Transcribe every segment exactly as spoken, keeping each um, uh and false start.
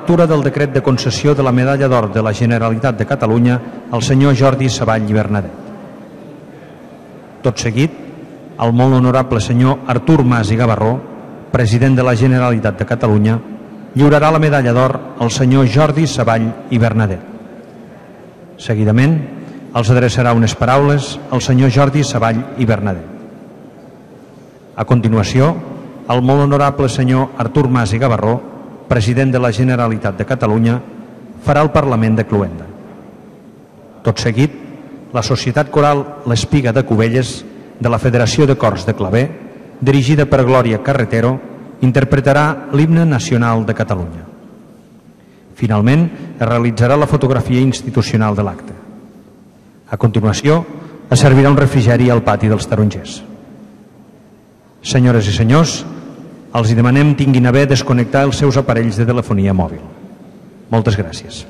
lectura del decret de concessió de la Medalla d'Or de la Generalitat de Catalunya al senyor Jordi Savall i Bernadet. Tot seguit, el molt honorable senyor Artur Mas i Gavarró, president de la Generalitat de Catalunya, lliurarà la Medalla d'Or al senyor Jordi Savall i Bernadet. Seguidament, els adreçarà unes paraules al senyor Jordi Savall i Bernadet. A continuació, el molt honorable senyor Artur Mas i Gavarró, president de la Generalitat de Catalunya, farà el Parlament de Cluenda. Tot seguit, la Societat Coral l'Espiga de Cubelles de la Federació de Cors de Claver, dirigida per Glòria Carretero, interpretarà l'himne nacional de Catalunya. Finalment, es realitzarà la fotografia institucional de l'acte. A continuació, es servirà un refrigeri al pati dels tarongers. Senyores i senyors, els demanem tinguin a bé desconnectar els seus aparells de telefonia mòbil. Moltes gràcies.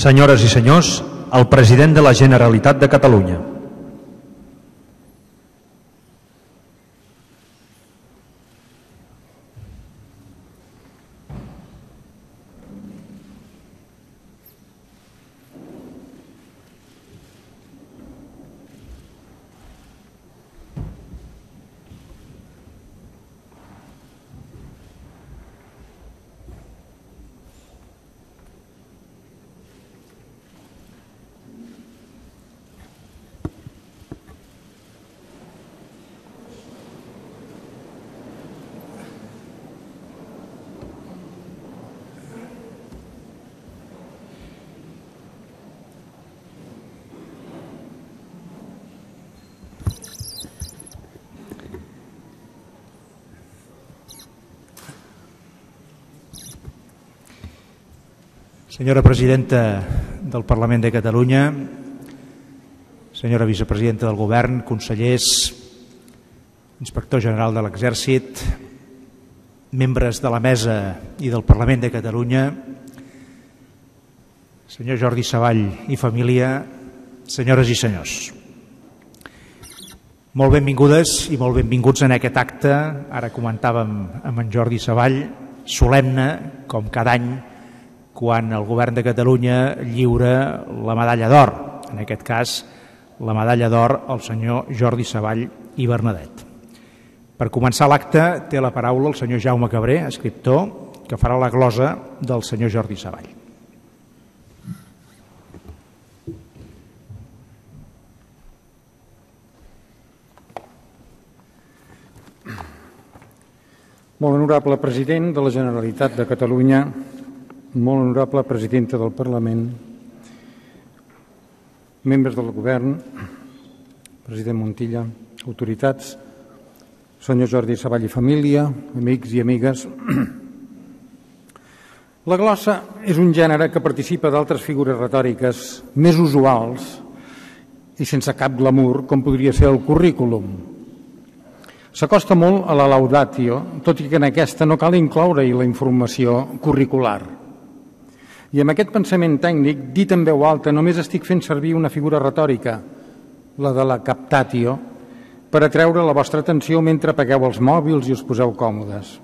Senyores i senyors, el president de la Generalitat de Catalunya. Senyora presidenta del Parlament de Catalunya, senyora vicepresidenta del Govern, consellers, inspector general de l'Exèrcit, membres de la Mesa i del Parlament de Catalunya, senyor Jordi Savall i família, senyores i senyors. Molt benvingudes i molt benvinguts en aquest acte, ara comentàvem amb en Jordi Savall, solemne, com cada any, quan el Govern de Catalunya lliura la medalla d'or, en aquest cas la medalla d'or al senyor Jordi Savall i Bernadet. Per començar l'acte té la paraula el senyor Jaume Cabré, escriptor, que farà la glosa del senyor Jordi Savall. Molt honorable president de la Generalitat de Catalunya, molt honorable presidenta del Parlament, membres del Govern, president Montilla, autoritats, senyor Jordi Savall i família, amics i amigues. La glossa és un gènere que participa d'altres figures retòriques més usuals i sense cap glamour, com podria ser el currículum. S'acosta molt a la laudatio, tot i que en aquesta no cal incloure-hi la informació curricular. I amb aquest pensament tècnic, dit en veu alta, només estic fent servir una figura retòrica, la de la captatio, per atreure la vostra atenció mentre apagueu els mòbils i us poseu còmodes.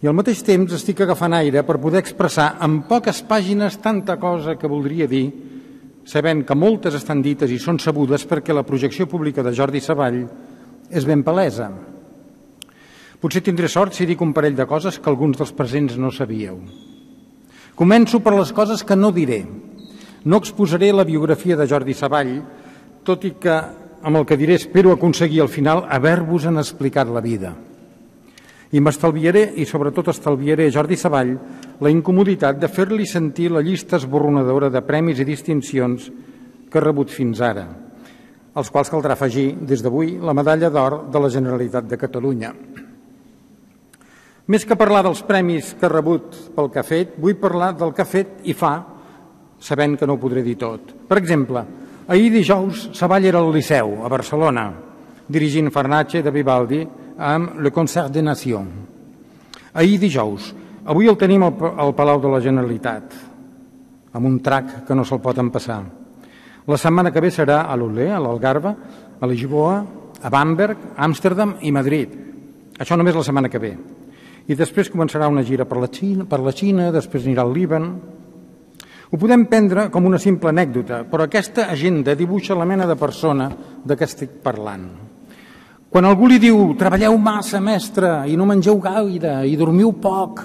I al mateix temps estic agafant aire per poder expressar en poques pàgines tanta cosa que voldria dir, sabent que moltes estan dites i són sabudes perquè la projecció pública de Jordi Savall és ben palesa. Potser tindré sort si dic un parell de coses que alguns dels presents no sabíeu. Començo per les coses que no diré. No exposaré la biografia de Jordi Savall, tot i que amb el que diré espero aconseguir al final haver-vos-en explicat la vida. I m'estalviaré, i sobretot estalviaré a Jordi Savall, la incomoditat de fer-li sentir la llista esborronadora de premis i distincions que ha rebut fins ara, als quals caldrà afegir, des d'avui, la medalla d'or de la Generalitat de Catalunya. Més que parlar dels premis que ha rebut pel que ha fet, vull parlar del que ha fet i fa, sabent que no ho podré dir tot. Per exemple, ahir dijous Savall era al Liceu, a Barcelona, dirigint Farnace de Vivaldi amb Le Concert des Nations. Ahir dijous. Avui el tenim al Palau de la Generalitat, amb un trac que no se'l pot empassar. La setmana que ve serà a l'Olé, a l'Algarve, a Lisboa, a Bamberg, Amsterdam i Madrid. Això només la setmana que ve. I després començarà una gira per la Xina, per la Xina, després anirà al Líban. Ho podem prendre com una simple anècdota, però aquesta agenda dibuixa la mena de persona de què estic parlant. Quan algú li diu «treballeu massa, mestre, i no mengeu gaire, i dormiu poc»,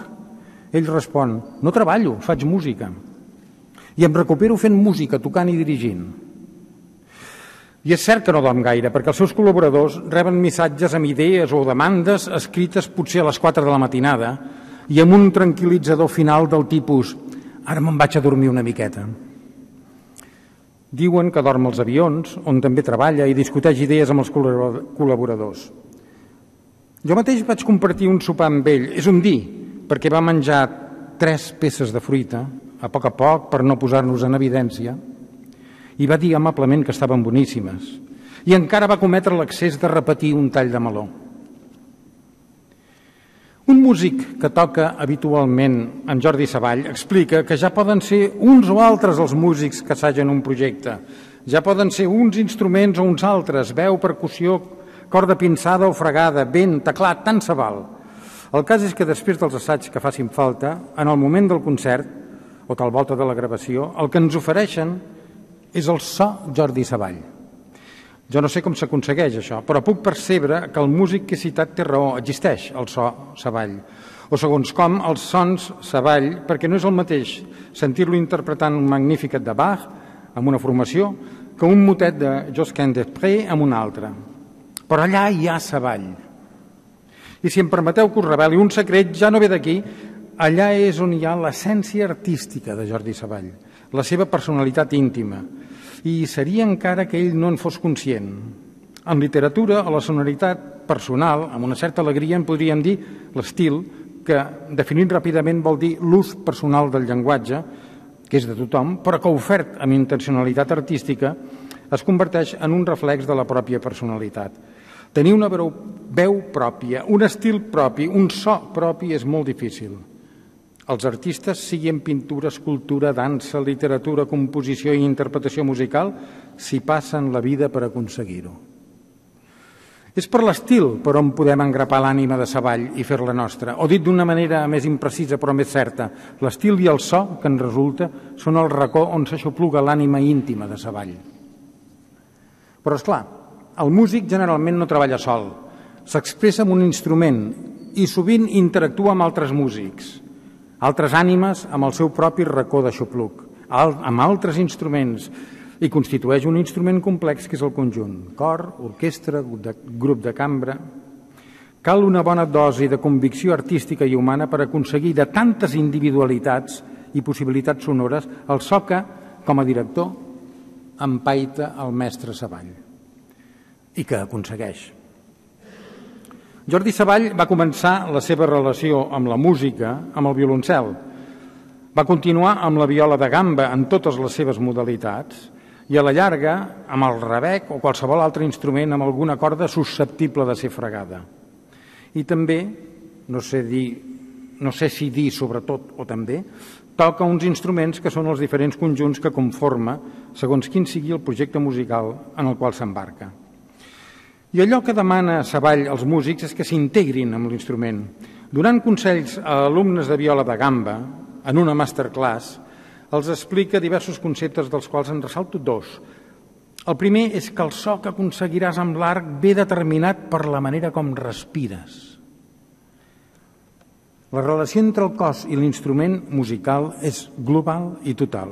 ell respon «no treballo, faig música. I em recupero fent música, tocant i dirigint». I és cert que no dorm gaire, perquè els seus col·laboradors reben missatges amb idees o demandes escrites potser a les quatre de la matinada i amb un tranquil·litzador final del tipus «ara me'n vaig a dormir una miqueta». Diuen que dorm als avions, on també treballa i discuteix idees amb els col·laboradors. Jo mateix vaig compartir un sopar amb ell, és un dir, perquè va menjar tres peces de fruita, a poc a poc, per no posar-nos en evidència, i va dir amablement que estaven boníssimes. I encara va cometre l'excés de repetir un tall de meló. Un músic que toca habitualment en Jordi Savall explica que ja poden ser uns o altres els músics que assagen un projecte. Ja poden ser uns instruments o uns altres, veu, percussió, corda pinçada o fregada, vent, teclat, tant se val. El cas és que després dels assaigs que facin falta, en el moment del concert, o tal volta de la gravació, el que ens ofereixen és el so Jordi Savall. Jo no sé com s'aconsegueix això, però puc percebre que el músic que he citat té raó, existeix el so Savall. O segons com, els sons Savall, perquè no és el mateix sentir-lo interpretant un Magnificat de Bach amb una formació que un motet de Josquin des Prés amb una altra. Però allà hi ha Savall. I si em permeteu que us reveli un secret, ja no ve d'aquí, allà és on hi ha l'essència artística de Jordi Savall, la seva personalitat íntima, i seria encara que ell no en fos conscient. En literatura, a la sonoritat personal, amb una certa alegria, en podríem dir l'estil, que, definit ràpidament, vol dir l'ús personal del llenguatge, que és de tothom, però que ofert amb intencionalitat artística es converteix en un reflex de la pròpia personalitat. Tenir una veu pròpia, un estil propi, un so propi és molt difícil. Els artistes, sigui en pintura, escultura, dansa, literatura, composició i interpretació musical, s'hi passen la vida per aconseguir-ho. És per l'estil per on podem engrapar l'ànima de Savall i fer-la nostra, o dit d'una manera més imprecisa però més certa, l'estil i el so que en resulta són el racó on s'aixopluga l'ànima íntima de Savall. Però, esclar, el músic generalment no treballa sol, s'expressa amb un instrument i sovint interactua amb altres músics, altres ànimes amb el seu propi racó d'aixopluc, amb altres instruments, i constitueix un instrument complex que és el conjunt, cor, orquestra, grup de cambra. Cal una bona dosi de convicció artística i humana per aconseguir de tantes individualitats i possibilitats sonores el so que, com a director, empaita el mestre Savall i que aconsegueix. Jordi Savall va començar la seva relació amb la música amb el violoncel. Va continuar amb la viola de gamba en totes les seves modalitats i a la llarga amb el rebec o qualsevol altre instrument amb alguna corda susceptible de ser fregada. I també, no sé, dir, no sé si dir sobretot o també, toca uns instruments que són els diferents conjunts que conforma segons quin sigui el projecte musical en el qual s'embarca. I allò que demana Savall als músics és que s'integrin amb l'instrument. Donant consells a alumnes de viola de gamba, en una masterclass, els explica diversos conceptes dels quals en ressalto dos. El primer és que el so que aconseguiràs amb l'art ve determinat per la manera com respires. La relació entre el cos i l'instrument musical és global i total.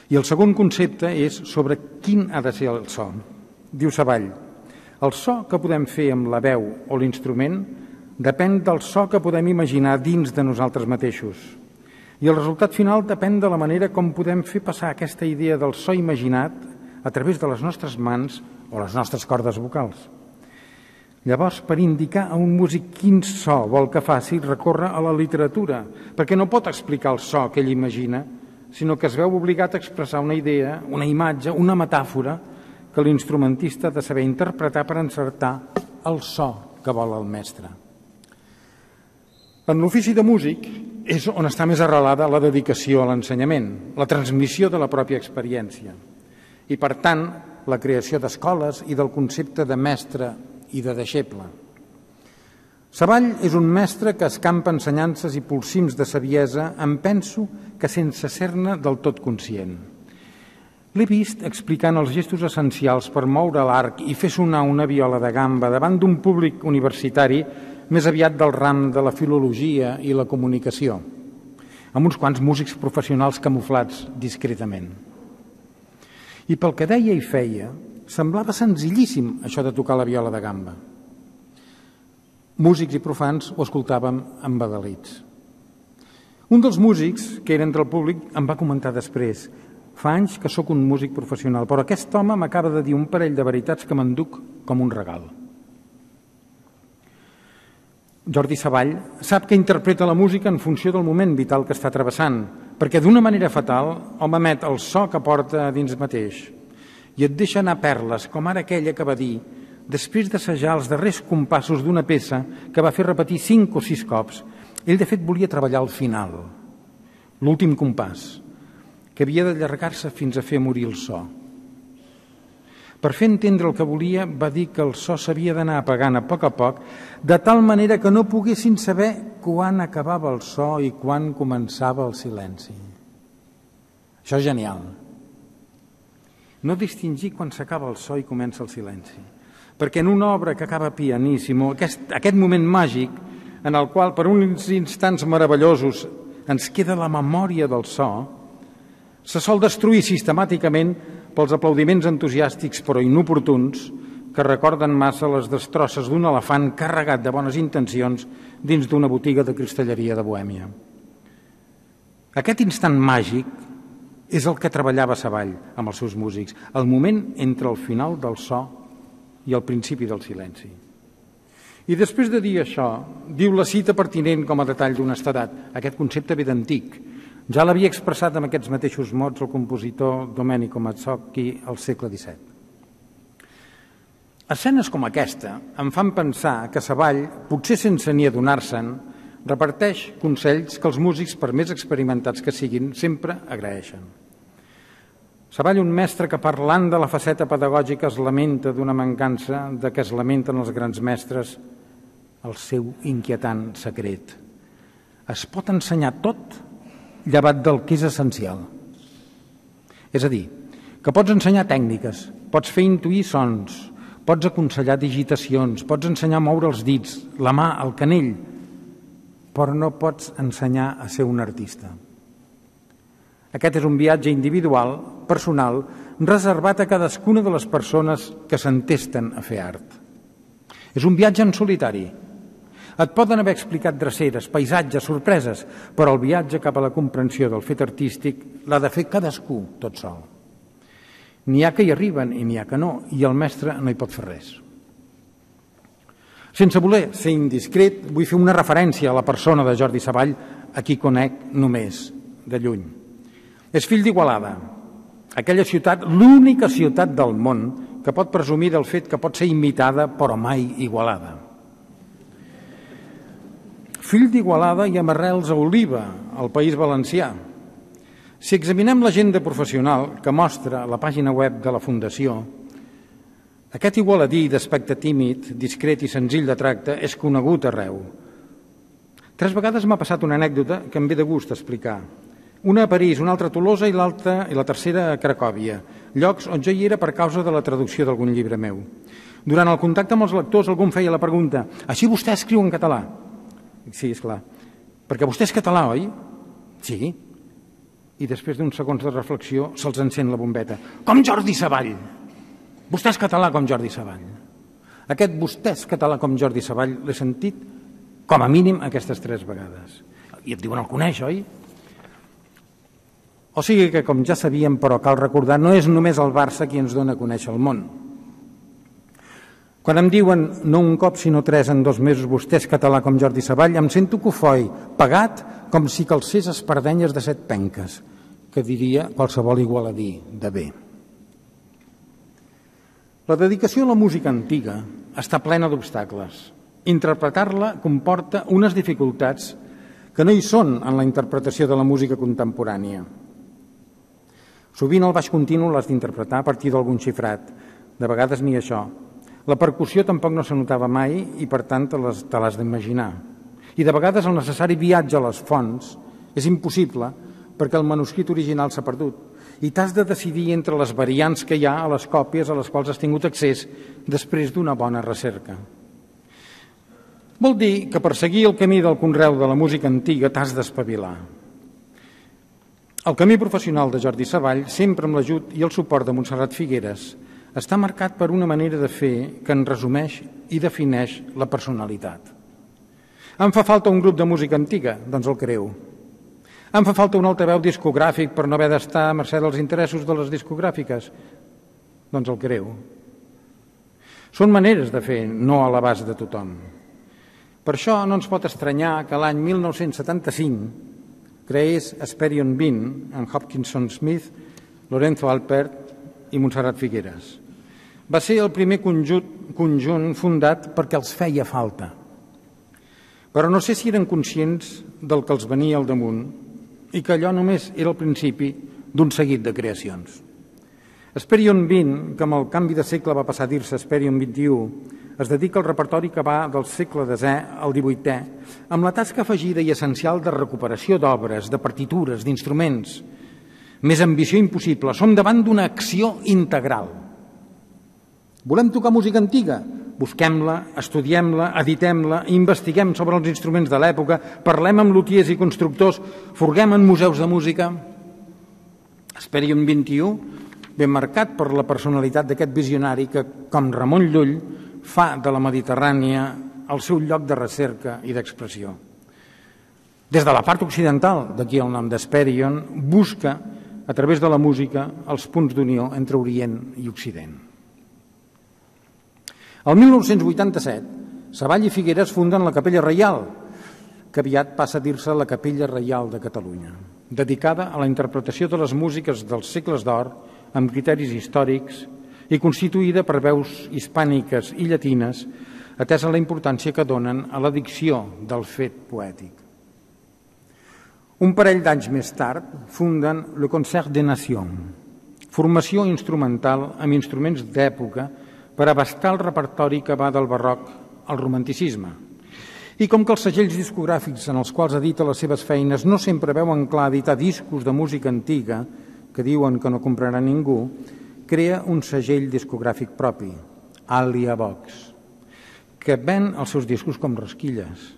I el segon concepte és sobre quin ha de ser el so. Diu Savall, el so que podem fer amb la veu o l'instrument depèn del so que podem imaginar dins de nosaltres mateixos. I el resultat final depèn de la manera com podem fer passar aquesta idea del so imaginat a través de les nostres mans o les nostres cordes vocals. Llavors, per indicar a un músic quin so vol que faci, recorre a la literatura, perquè no pot explicar el so que ell imagina, sinó que es veu obligat a expressar una idea, una imatge, una metàfora que l'instrumentista ha de saber interpretar per encertar el so que vol el mestre. En l'ofici de músic és on està més arrelada la dedicació a l'ensenyament, la transmissió de la pròpia experiència i, per tant, la creació d'escoles i del concepte de mestre i de deixeble. Savall és un mestre que escampa ensenyances i polsims de saviesa, em penso que sense ser-ne del tot conscient. L'he vist explicant els gestos essencials per moure l'arc i fer sonar una viola de gamba davant d'un públic universitari més aviat del ram de la filologia i la comunicació, amb uns quants músics professionals camuflats discretament. I pel que deia i feia, semblava senzillíssim això de tocar la viola de gamba. Músics i profans ho escoltàvem embadalits. Un dels músics, que era entre el públic, em va comentar després: fa anys que sóc un músic professional, però aquest home m'acaba de dir un parell de veritats que m'enduc com un regal. Jordi Savall sap que interpreta la música en funció del moment vital que està travessant, perquè d'una manera fatal hom emet el so que porta dins mateix i et deixa anar perles, com ara aquella que va dir després d'assajar els darrers compassos d'una peça que va fer repetir cinc o sis cops. Ell, de fet, volia treballar al final, l'últim compàs, que havia d'allargar-se fins a fer morir el so. Per fer entendre el que volia, va dir que el so s'havia d'anar apagant a poc a poc, de tal manera que no poguessin saber quan acabava el so i quan començava el silenci. Això és genial. No distingir quan s'acaba el so i comença el silenci. Perquè en una obra que acaba pianíssimo, aquest, aquest moment màgic en el qual per uns instants meravellosos ens queda la memòria del so, se sol destruir sistemàticament pels aplaudiments entusiàstics però inoportuns que recorden massa les destrosses d'un elefant carregat de bones intencions dins d'una botiga de cristalleria de Bohèmia. Aquest instant màgic és el que treballava Savall amb els seus músics, el moment entre el final del so i el principi del silenci. I després de dir això, diu la cita pertinent com a detall d'honestedat. Aquest concepte ve d'antic. Ja l'havia expressat amb aquests mateixos mots el compositor Domenico Mazzocchi al segle disset. Escenes com aquesta em fan pensar que Savall, potser sense ni adonar-se'n, reparteix consells que els músics, per més experimentats que siguin, sempre agraeixen. Savall, un mestre que parlant de la faceta pedagògica es lamenta d'una mancança de què es lamenten els grans mestres, el seu inquietant secret. Es pot ensenyar tot llevat del que és essencial. És a dir, que pots ensenyar tècniques, pots fer intuir sons, pots aconsellar digitacions, pots ensenyar a moure els dits, la mà, el canell, però no pots ensenyar a ser un artista. Aquest és un viatge individual, personal, reservat a cadascuna de les persones que s'entesten a fer art. És un viatge en solitari. Et poden haver explicat dreceres, paisatges, sorpreses, però el viatge cap a la comprensió del fet artístic l'ha de fer cadascú tot sol. N'hi ha que hi arriben i n'hi ha que no, i el mestre no hi pot fer res. Sense voler ser indiscret, vull fer una referència a la persona de Jordi Savall, a qui conec només de lluny. És fill d'Igualada, aquella ciutat, l'única ciutat del món que pot presumir del fet que pot ser imitada però mai igualada. Fill d'Igualada i amb arrels a Oliva, al País Valencià. Si examinem l'agenda professional que mostra la pàgina web de la Fundació, Aquest igualadí d'aspecte tímid, discret i senzill de tracte és conegut arreu. Tres vegades m'ha passat una anècdota que em ve de gust explicar. Una a París, una altra a Tolosa i l'altra i la tercera a Cracòvia, llocs on jo hi era per causa de la traducció d'algun llibre meu. Durant el contacte amb els lectors algú em feia la pregunta: així vostè escriu en català? Sí, esclar. Perquè vostè és català, oi? Sí. I després d'uns segons de reflexió se'ls encén la bombeta. Com Jordi Savall! Vostè és català com Jordi Savall. Aquest vostè és català com Jordi Savall l'he sentit com a mínim aquestes tres vegades. I et diuen, el coneix, oi? O sigui que, com ja sabíem, però cal recordar, no és només el Barça qui ens dona a conèixer el món. Quan em diuen, no un cop sinó tres en dos mesos, vostè és català com Jordi Savall, em sento cofoi, pagat com si calcés espardenyes de set penques, que diria qualsevol igualadí de bé. La dedicació a la música antiga està plena d'obstacles. Interpretar-la comporta unes dificultats que no hi són en la interpretació de la música contemporània. Sovint el baix continu l'has d'interpretar a partir d'algun xifrat, de vegades ni això. La percussió tampoc no se notava mai i per tant te l'has d'imaginar. I de vegades el necessari viatge a les fonts és impossible perquè el manuscrit original s'ha perdut i t'has de decidir entre les variants que hi ha a les còpies a les quals has tingut accés després d'una bona recerca. Vol dir que per seguir el camí del conreu de la música antiga t'has d'espavilar. El camí professional de Jordi Savall, sempre amb l'ajut i el suport de Montserrat Figueres, està marcat per una manera de fer que en resumeix i defineix la personalitat. Em fa falta un grup de música antiga? Doncs el creo. Em fa falta un altaveu discogràfic per no haver d'estar a mercè dels interessos de les discogràfiques? Doncs el creo. Són maneres de fer, no a l'abast de tothom. Per això no ens pot estranyar que l'any mil nou-cents setanta-cinc creés Hesperion vint amb Hopkinson Smith, Lorenzo Alpert i Montserrat Figueres. Va ser el primer conjunt, conjunt fundat perquè els feia falta. Però no sé si eren conscients del que els venia al damunt i que allò només era el principi d'un seguit de creacions. Hesperion vint, que amb el canvi de segle va passar a dir-se Hesperion vint-i-u, es dedica al repertori que va del segle desè al divuitè, amb la tasca afegida i essencial de recuperació d'obres, de partitures, d'instruments. Més ambició impossible. Som davant d'una acció integral. Volem tocar música antiga? Busquem-la, estudiem-la, editem-la, investiguem sobre els instruments de l'època, parlem amb lutiers i constructors, forguem en museus de música. Hesperion vint-i-u, ben marcat per la personalitat d'aquest visionari que, com Ramon Llull, fa de la Mediterrània el seu lloc de recerca i d'expressió. Des de la part occidental, d'aquí el nom d'Hesperion, busca, a través de la música, els punts d'unió entre Orient i Occident. El mil nou-cents vuitanta-set, Savall i Figueres funden la Capella Reial, que aviat passa a dir-se la Capella Reial de Catalunya, dedicada a la interpretació de les músiques dels segles d'or amb criteris històrics i constituïda per veus hispàniques i llatines, atesa la importància que donen a la dicció del fet poètic. Un parell d'anys més tard funden le Concert des Nations, formació instrumental amb instruments d'època per abastar el repertori que va del barroc al romanticisme. I com que els segells discogràfics en els quals edita les seves feines no sempre veuen clar editar discos de música antiga, que diuen que no comprarà ningú, crea un segell discogràfic propi, Alia Vox, que ven els seus discos com rasquilles,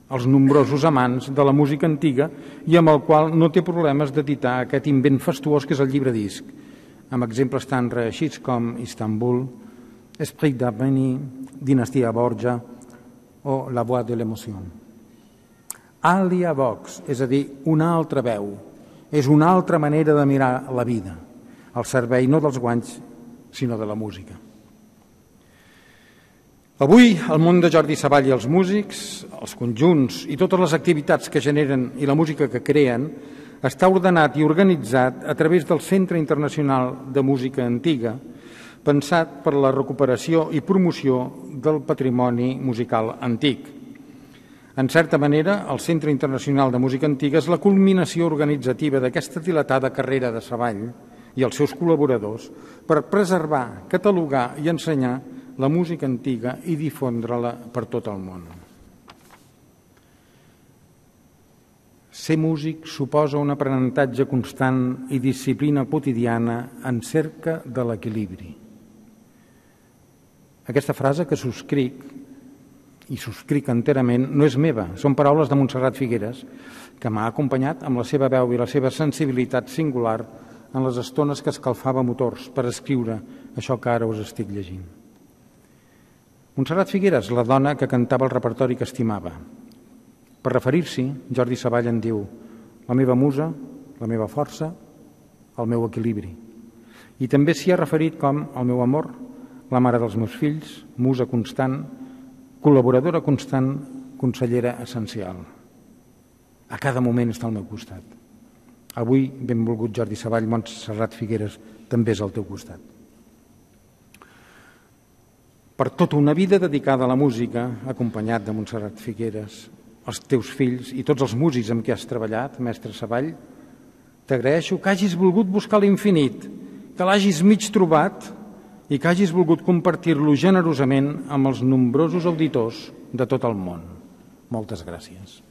els nombrosos amants de la música antiga i amb el qual no té problemes d'editar aquest invent fastuós que és el llibre disc, amb exemples tan reeixits com Istanbul, Esprit d'Armeni, Dinastia Borgia o La Voix de l'Emoció. Alia Vox, és a dir, una altra veu, és una altra manera de mirar la vida, al servei no dels guanys, sinó de la música. Avui, el món de Jordi Savall i els músics, els conjunts i totes les activitats que generen i la música que creen, està ordenat i organitzat a través del Centre Internacional de Música Antiga, pensat per la recuperació i promoció del patrimoni musical antic. En certa manera, el Centre Internacional de Música Antiga és la culminació organitzativa d'aquesta dilatada carrera de Savall, i els seus col·laboradors per preservar, catalogar i ensenyar la música antiga i difondre-la per tot el món. Ser músic suposa un aprenentatge constant i disciplina quotidiana en cerca de l'equilibri. Aquesta frase que subscric, i subscric enterament, no és meva, són paraules de Montserrat Figueres, que m'ha acompanyat amb la seva veu i la seva sensibilitat singular en les estones que escalfava motors per escriure això que ara us estic llegint. Montserrat Figueres, la dona que cantava el repertori que estimava. Per referir-s'hi, Jordi Savall en diu: la meva musa, la meva força, el meu equilibri. I també s'hi ha referit com el meu amor, la mare dels meus fills, musa constant, col·laboradora constant, consellera essencial. A cada moment està al meu costat. Avui, benvolgut Jordi Savall, Montserrat Figueres també és al teu costat. Per tota una vida dedicada a la música, acompanyat de Montserrat Figueres, els teus fills i tots els músics amb qui has treballat, mestre Savall, t'agraeixo que hagis volgut buscar l'infinit, que l'hagis mig trobat i que hagis volgut compartir-lo generosament amb els nombrosos auditors de tot el món. Moltes gràcies.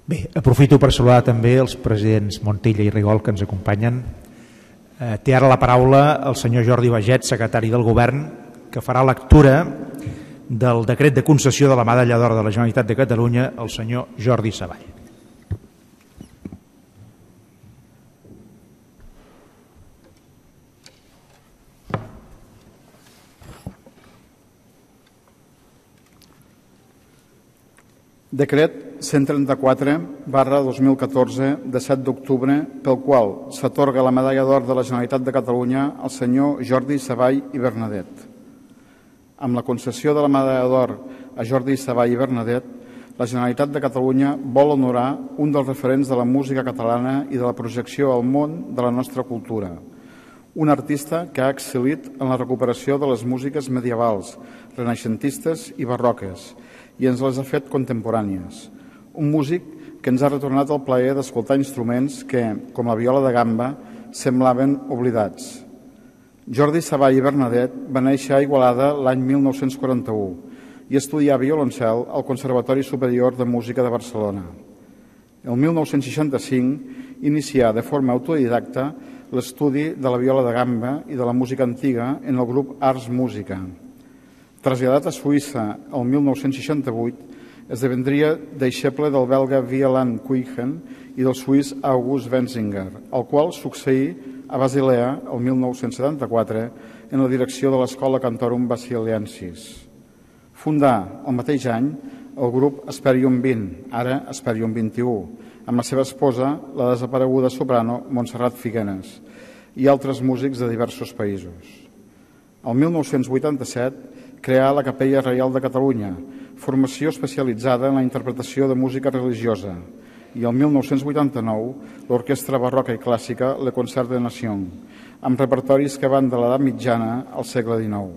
Bé, aprofito per saludar també els presidents Montilla i Rigol que ens acompanyen. Eh, té ara la paraula el senyor Jordi Baget, secretari del Govern, que farà lectura del decret de concessió de la Medalla d'Or de la Generalitat de Catalunya al senyor Jordi Savall. Decret cent trenta-quatre barra dos mil catorze de set d'octubre pel qual s'atorga la Medalla d'Or de la Generalitat de Catalunya al senyor Jordi Savall i Bernadet. Amb la concessió de la Medalla d'Or a Jordi Savall i Bernadet, la Generalitat de Catalunya vol honorar un dels referents de la música catalana i de la projecció al món de la nostra cultura, un artista que ha excel·lit en la recuperació de les músiques medievals, renaixentistes i barroques, i ens les ha fet contemporànies. Un músic que ens ha retornat el plaer d'escoltar instruments que, com la viola de gamba, semblaven oblidats. Jordi Savall i Bernadet va néixer a Igualada l'any mil nou-cents quaranta-u i estudià violoncel al Conservatori Superior de Música de Barcelona. El mil nou-cents seixanta-cinc inicià de forma autodidacta l'estudi de la viola de gamba i de la música antiga en el grup Ars Música. Traslladat a Suïssa el mil nou-cents seixanta-vuit, esdevendria deixeble del belga Wieland Kuijhen i del suís August Wenzinger, el qual succeí a Basilea el mil nou-cents setanta-quatre en la direcció de l'Escola Cantorum Basiliensis. Fundà el mateix any el grup Esperium vint, ara Esperium vint-i-u, amb la seva esposa, la desapareguda soprano Montserrat Figueres, i altres músics de diversos països. El mil nou-cents vuitanta-set creà la Capella Reial de Catalunya, formació especialitzada en la interpretació de música religiosa, i el mil nou-cents vuitanta-nou l'Orquestra Barroca i Clàssica Le Concert de Nation, amb repertoris que van de l'edat mitjana al segle dinou.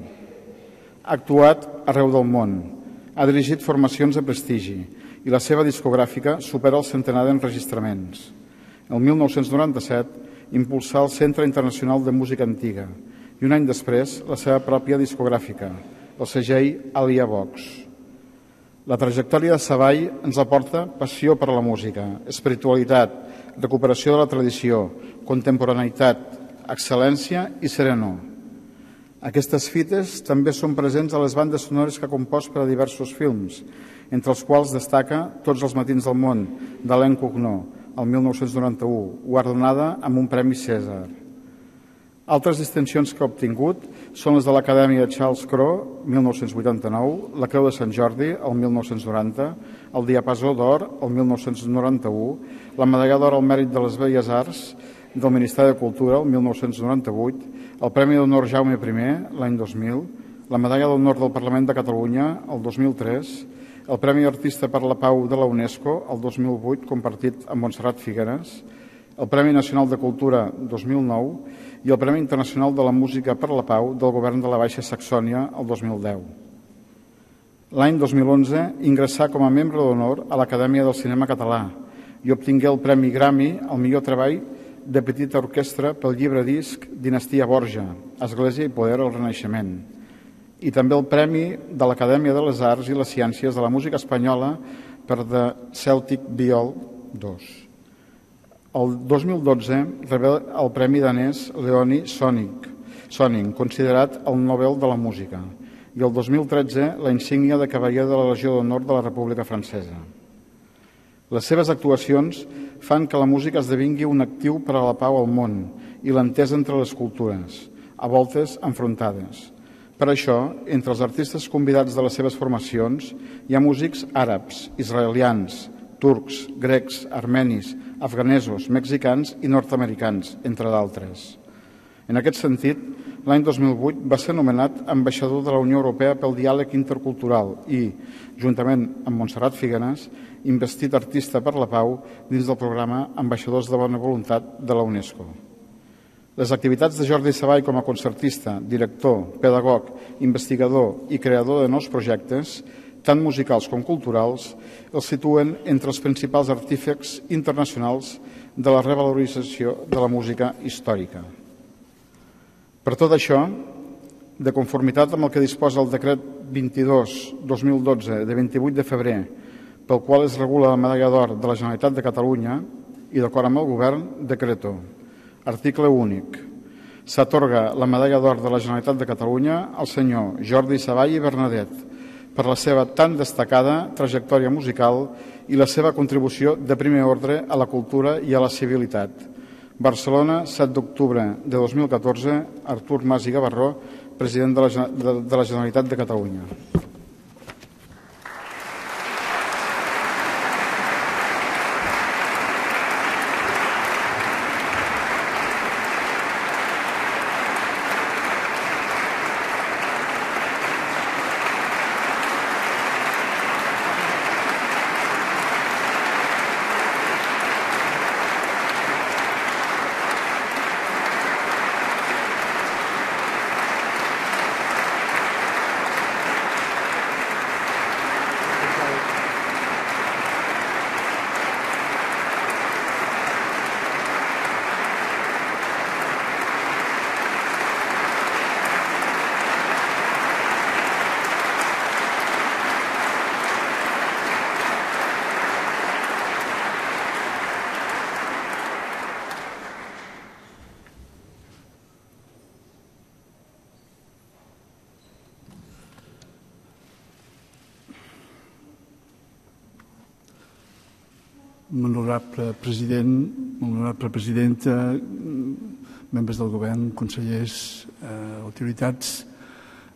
Ha actuat arreu del món, ha dirigit formacions de prestigi i la seva discogràfica supera el centenar d'enregistraments. El mil nou-cents noranta-set impulsà el Centre Internacional de Música Antiga i un any després la seva pròpia discogràfica, el segell Alia Vox. La trajectòria de Savall ens aporta passió per la música, espiritualitat, recuperació de la tradició, contemporaneïtat, excel·lència i serenor. Aquestes fites també són presents a les bandes sonores que ha compost per a diversos films, entre els quals destaca Tots els matins del món, d'Alain Cugnot, el mil nou-cents noranta-u, guardonada amb un Premi Cèsar. Altres distincions que ha obtingut són les de l'Acadèmia Charles Cros, mil nou-cents vuitanta-nou, la Creu de Sant Jordi, el mil nou-cents noranta, el Diapasó d'Or, el mil nou-cents noranta-u, la Medalla d'Or al Mèrit de les Belles Arts del Ministeri de Cultura, el mil nou-cents noranta-vuit, el Premi d'Honor Jaume primer, l'any dos mil, la Medalla d'Honor del Parlament de Catalunya, el dos mil tres, el Premi Artista per la Pau de la UNESCO, el dos mil vuit, compartit amb Montserrat Figueres, el Premi Nacional de Cultura dos mil nou i el Premi Internacional de la Música per la Pau del Govern de la Baixa Saxònia el dos mil deu. L'any dos mil onze ingressà com a membre d'honor a l'Acadèmia del Cinema Català i obtingué el Premi Grammy al millor treball de petita orquestra pel llibre disc Dinastia Borja, Església i Poder al Renaixement, i també el Premi de l'Acadèmia de les Arts i les Ciències de la Música Espanyola per The Celtic Viol dos. El dos mil dotze rebé el Premi danès Leonie Sonning, considerat el Nobel de la Música, i el dos mil tretze la insígnia de Cavaller de la Legió d'Honor de la República Francesa. Les seves actuacions fan que la música esdevingui un actiu per a la pau al món i l'entesa entre les cultures, a voltes enfrontades. Per això, entre els artistes convidats de les seves formacions hi ha músics àrabs, israelians, turcs, grecs, armenis, afganesos, mexicans i nord-americans, entre d'altres. En aquest sentit, l'any dos mil vuit va ser nomenat ambaixador de la Unió Europea pel diàleg intercultural i, juntament amb Montserrat Figueres, investit artista per la pau dins del programa Ambaixadors de Bona Voluntat de la UNESCO. Les activitats de Jordi Savall com a concertista, director, pedagog, investigador i creador de nous projectes, tant musicals com culturals, els situen entre els principals artífecs internacionals de la revalorització de la música històrica. Per tot això, de conformitat amb el que disposa el decret vint-i-dos dos mil dotze de vint-i-vuit de febrer, pel qual es regula la Medalla d'Or de la Generalitat de Catalunya i d'acord amb el Govern, decreto. Article únic. S'atorga la Medalla d'Or de la Generalitat de Catalunya al senyor Jordi Savall i Bernadet per la seva tan destacada trajectòria musical i la seva contribució de primer ordre a la cultura i a la civilitat. Barcelona, set d'octubre de dos mil catorze, Artur Mas i Gavarró, president de la, de, de la Generalitat de Catalunya. Honorable president, honorable presidenta, membres del govern, consellers, eh, autoritats,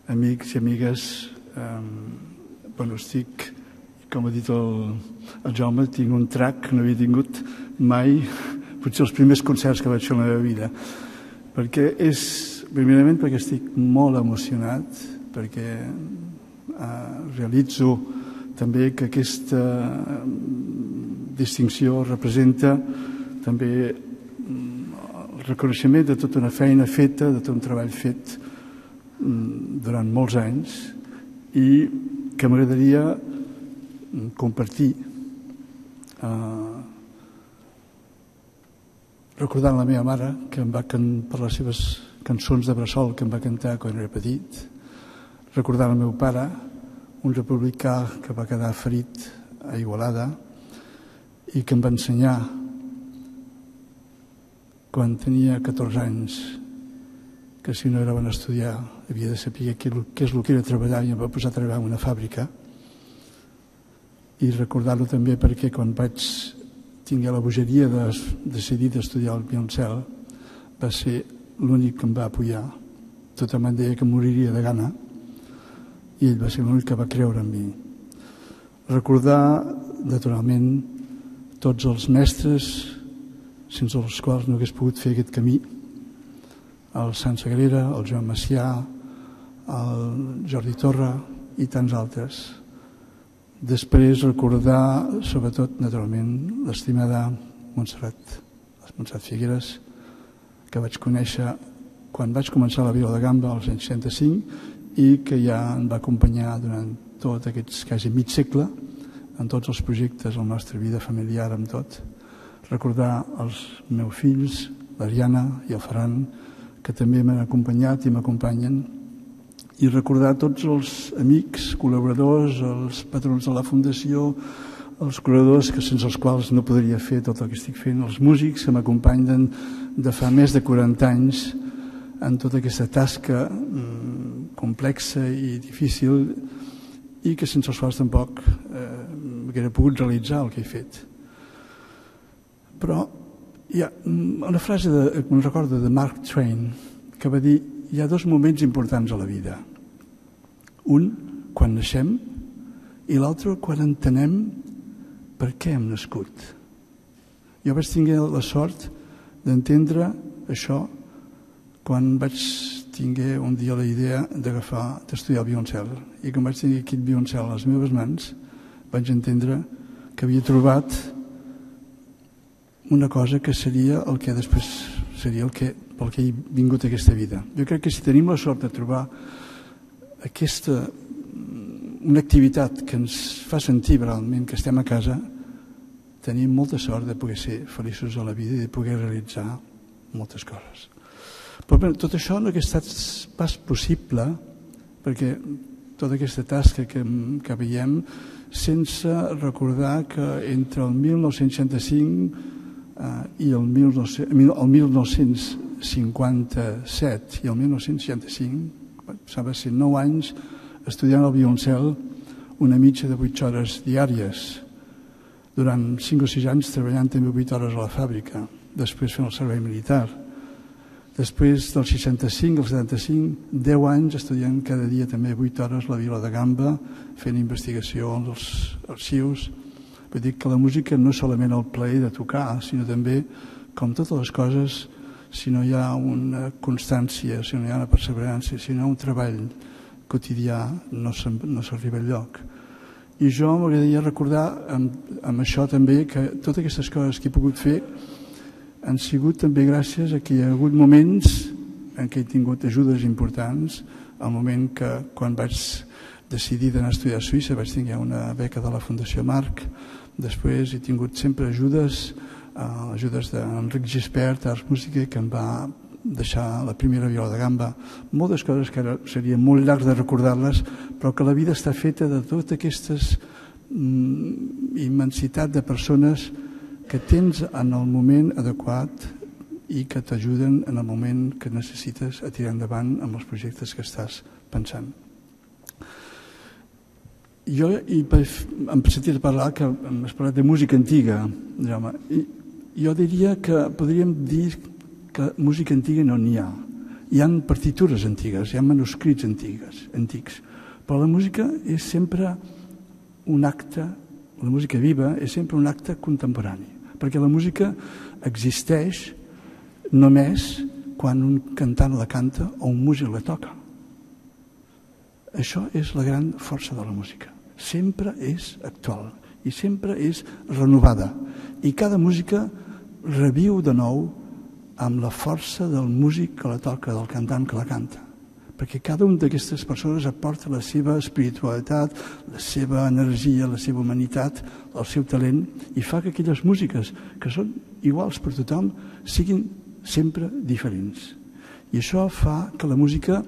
amics i amigues, eh, bueno, estic, com ha dit el, el Jaume, tinc un trac que no havia tingut mai, potser els primers concerts que vaig fer en la meva vida, perquè és, primerament perquè estic molt emocionat, perquè eh, realitzo també que aquesta distinció representa també el reconeixement de tota una feina feta, de tot un treball fet durant molts anys i que m'agradaria compartir eh, recordant la meva mare que em va cantar per les seves cançons de bressol que em va cantar quan era petit, recordant el meu pare, un republicà que va quedar ferit a Igualada i que em va ensenyar quan tenia catorze anys que si no era bon estudiar havia de saber què és el que era treballar i em va posar a treballar en una fàbrica. I recordar-lo també perquè quan vaig tingué la bogeria de decidir d'estudiar al Violoncel va ser l'únic que em va apoyar. Tothom em deia que moriria de gana i ell va ser l'únic que va creure en mi. Recordar, naturalment, tots els mestres sense els quals no hagués pogut fer aquest camí, el Sant Sagrera, el Joan Macià, el Jordi Torra i tants altres. Després recordar, sobretot, naturalment, l'estimada Montserrat, Montserrat Figueres, que vaig conèixer quan vaig començar la Vila de Gamba als anys seixanta-cinc i que ja em va acompanyar durant tot aquests quasi mig segle en tots els projectes de la nostra vida familiar, amb tot. Recordar els meus fills, l'Ariana i el Ferran, que també m'han acompanyat i m'acompanyen, i recordar tots els amics, col·laboradors, els patrons de la Fundació, els col·laboradors que sense els quals no podria fer tot el que estic fent, els músics que m'acompanyen de fa més de quaranta anys en tota aquesta tasca mm, complexa i difícil i que sense els quals tampoc eh, hauria pogut realitzar el que he fet. Però hi ha una frase de, que em recordo de Mark Twain que va dir: hi ha dos moments importants a la vida. Un, quan naixem, i l'altre, quan entenem per què hem nascut. Jo vaig tenir la sort d'entendre això quan vaig tingué un dia la idea d'agafar, d'estudiar el violoncel. I quan vaig tenir aquest violoncel a les meves mans, vaig entendre que havia trobat una cosa que seria el que després seria el que, pel que he vingut a aquesta vida. Jo crec que si tenim la sort de trobar aquesta, una activitat que ens fa sentir realment que estem a casa, tenim molta sort de poder ser feliços a la vida i de poder realitzar moltes coses. Però bé, tot això no hauria estat pas possible perquè tota aquesta tasca que, que veiem sense recordar que entre el mil nou-cents seixanta-cinc eh, i el, mil nou-cents cinquanta-set i el mil nou-cents seixanta-cinc passava a ser nou anys estudiant el violoncel una mitja de vuit hores diàries, durant cinc o sis anys treballant també vuit hores a la fàbrica, després fent el servei militar. Després del seixanta-cinc al setanta-cinc, deu anys estudiant cada dia també vuit hores la Vila de Gamba, fent investigació als arxius. Vull dir que la música no és solament el plaer de tocar, sinó també, com totes les coses, si no hi ha una constància, si no hi ha una perseverança, si no hi ha un treball quotidià, no s'arriba enlloc. I jo m'agradaria recordar amb, amb això també que totes aquestes coses que he pogut fer han sigut també gràcies a que hi ha hagut moments en què he tingut ajudes importants. El moment que quan vaig decidir d'anar a estudiar a Suïssa vaig tenir una beca de la Fundació Marc. Després he tingut sempre ajudes, eh, ajudes d'Enric Gispert, Arts Música, que em va deixar la primera Viola de Gamba. Moltes coses que ara seria molt llarg de recordar-les, però que la vida està feta de totes aquestes mm, immensitat de persones que tens en el moment adequat i que t'ajuden en el moment que necessites a tirar endavant amb els projectes que estàs pensant. Jo em sentit parlar que m'has parlat de música antiga, Jaume. Jo diria que podríem dir que música antiga no n'hi ha. Hi ha partitures antigues, hi ha manuscrits antigues, antics, però la música és sempre un acte, la música viva és sempre un acte contemporani, perquè la música existeix només quan un cantant la canta o un músic la toca. Això és la gran força de la música. Sempre és actual i sempre és renovada. I cada música reviu de nou amb la força del músic que la toca, del cantant que la canta. Perquè cada una d'aquestes persones aporta la seva espiritualitat, la seva energia, la seva humanitat, el seu talent, i fa que aquelles músiques que són iguals per tothom siguin sempre diferents. I això fa que la música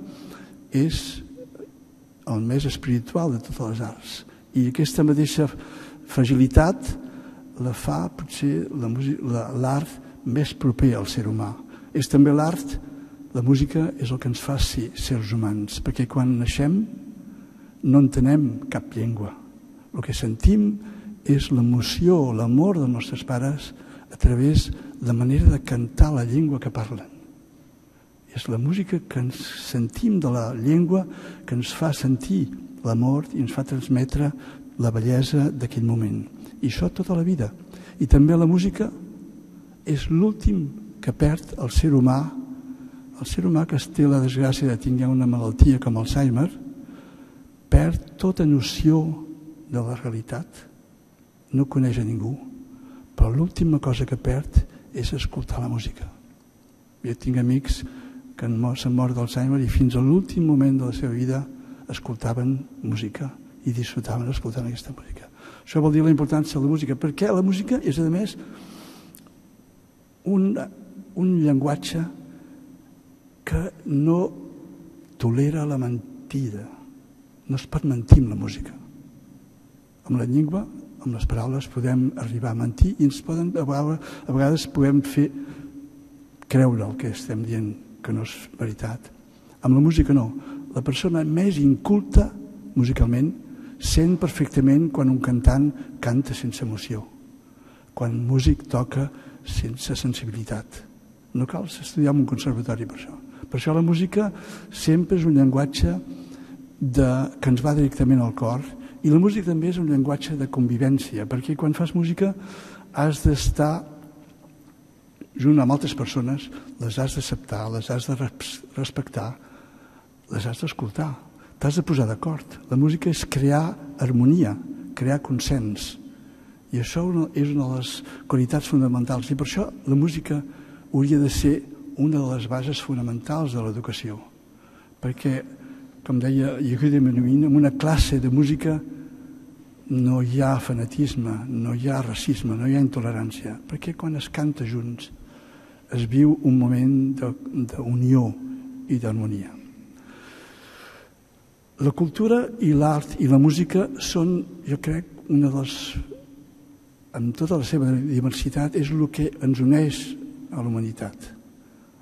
és el més espiritual de totes les arts. I aquesta mateixa fragilitat la fa potser l'art més proper al ser humà. És també l'art, la música és el que ens fa ser sers humans, perquè quan naixem no entenem cap llengua. El que sentim és l'emoció, l'amor dels nostres pares a través de la manera de cantar la llengua que parlen. És la música que ens sentim de la llengua, que ens fa sentir l'amor i ens fa transmetre la bellesa d'aquell moment. I això tota la vida. I també la música és l'últim que perd el ser humà, el ser humà que té la desgràcia de tenir una malaltia com Alzheimer, perd tota noció de la realitat, no coneix a ningú, però l'última cosa que perd és escoltar la música. Jo tinc amics que s'han mort d'Alzheimer i fins a l'últim moment de la seva vida escoltaven música i disfrutaven escoltant aquesta música. Això vol dir la importància de la música, perquè la música és, a més, un, un llenguatge que no tolera la mentida. No es pot mentir amb la música. Amb la llengua, amb les paraules, podem arribar a mentir i ens poden, a vegades podem fer creure el que estem dient que no és veritat. Amb la música no. La persona més inculta musicalment sent perfectament quan un cantant canta sense emoció, quan un músic toca sense sensibilitat. No cal estudiar en un conservatori per això. Per això la música sempre és un llenguatge de, que ens va directament al cor, i la música també és un llenguatge de convivència, perquè quan fas música has d'estar junt amb altres persones, les has d'acceptar, les has de respectar, les has d'escoltar, t'has de posar d'acord. La música és crear harmonia, crear consens, i això és una de les qualitats fonamentals, i per això la música hauria de ser una de les bases fonamentals de l'educació, perquè, com deia Yehuda Menuhin, en una classe de música no hi ha fanatisme, no hi ha racisme, no hi ha intolerància, perquè quan es canta junts es viu un moment d'unió i d'harmonia. La cultura i l'art i la música són, jo crec, una de les, amb tota la seva diversitat, és el que ens uneix a la humanitat.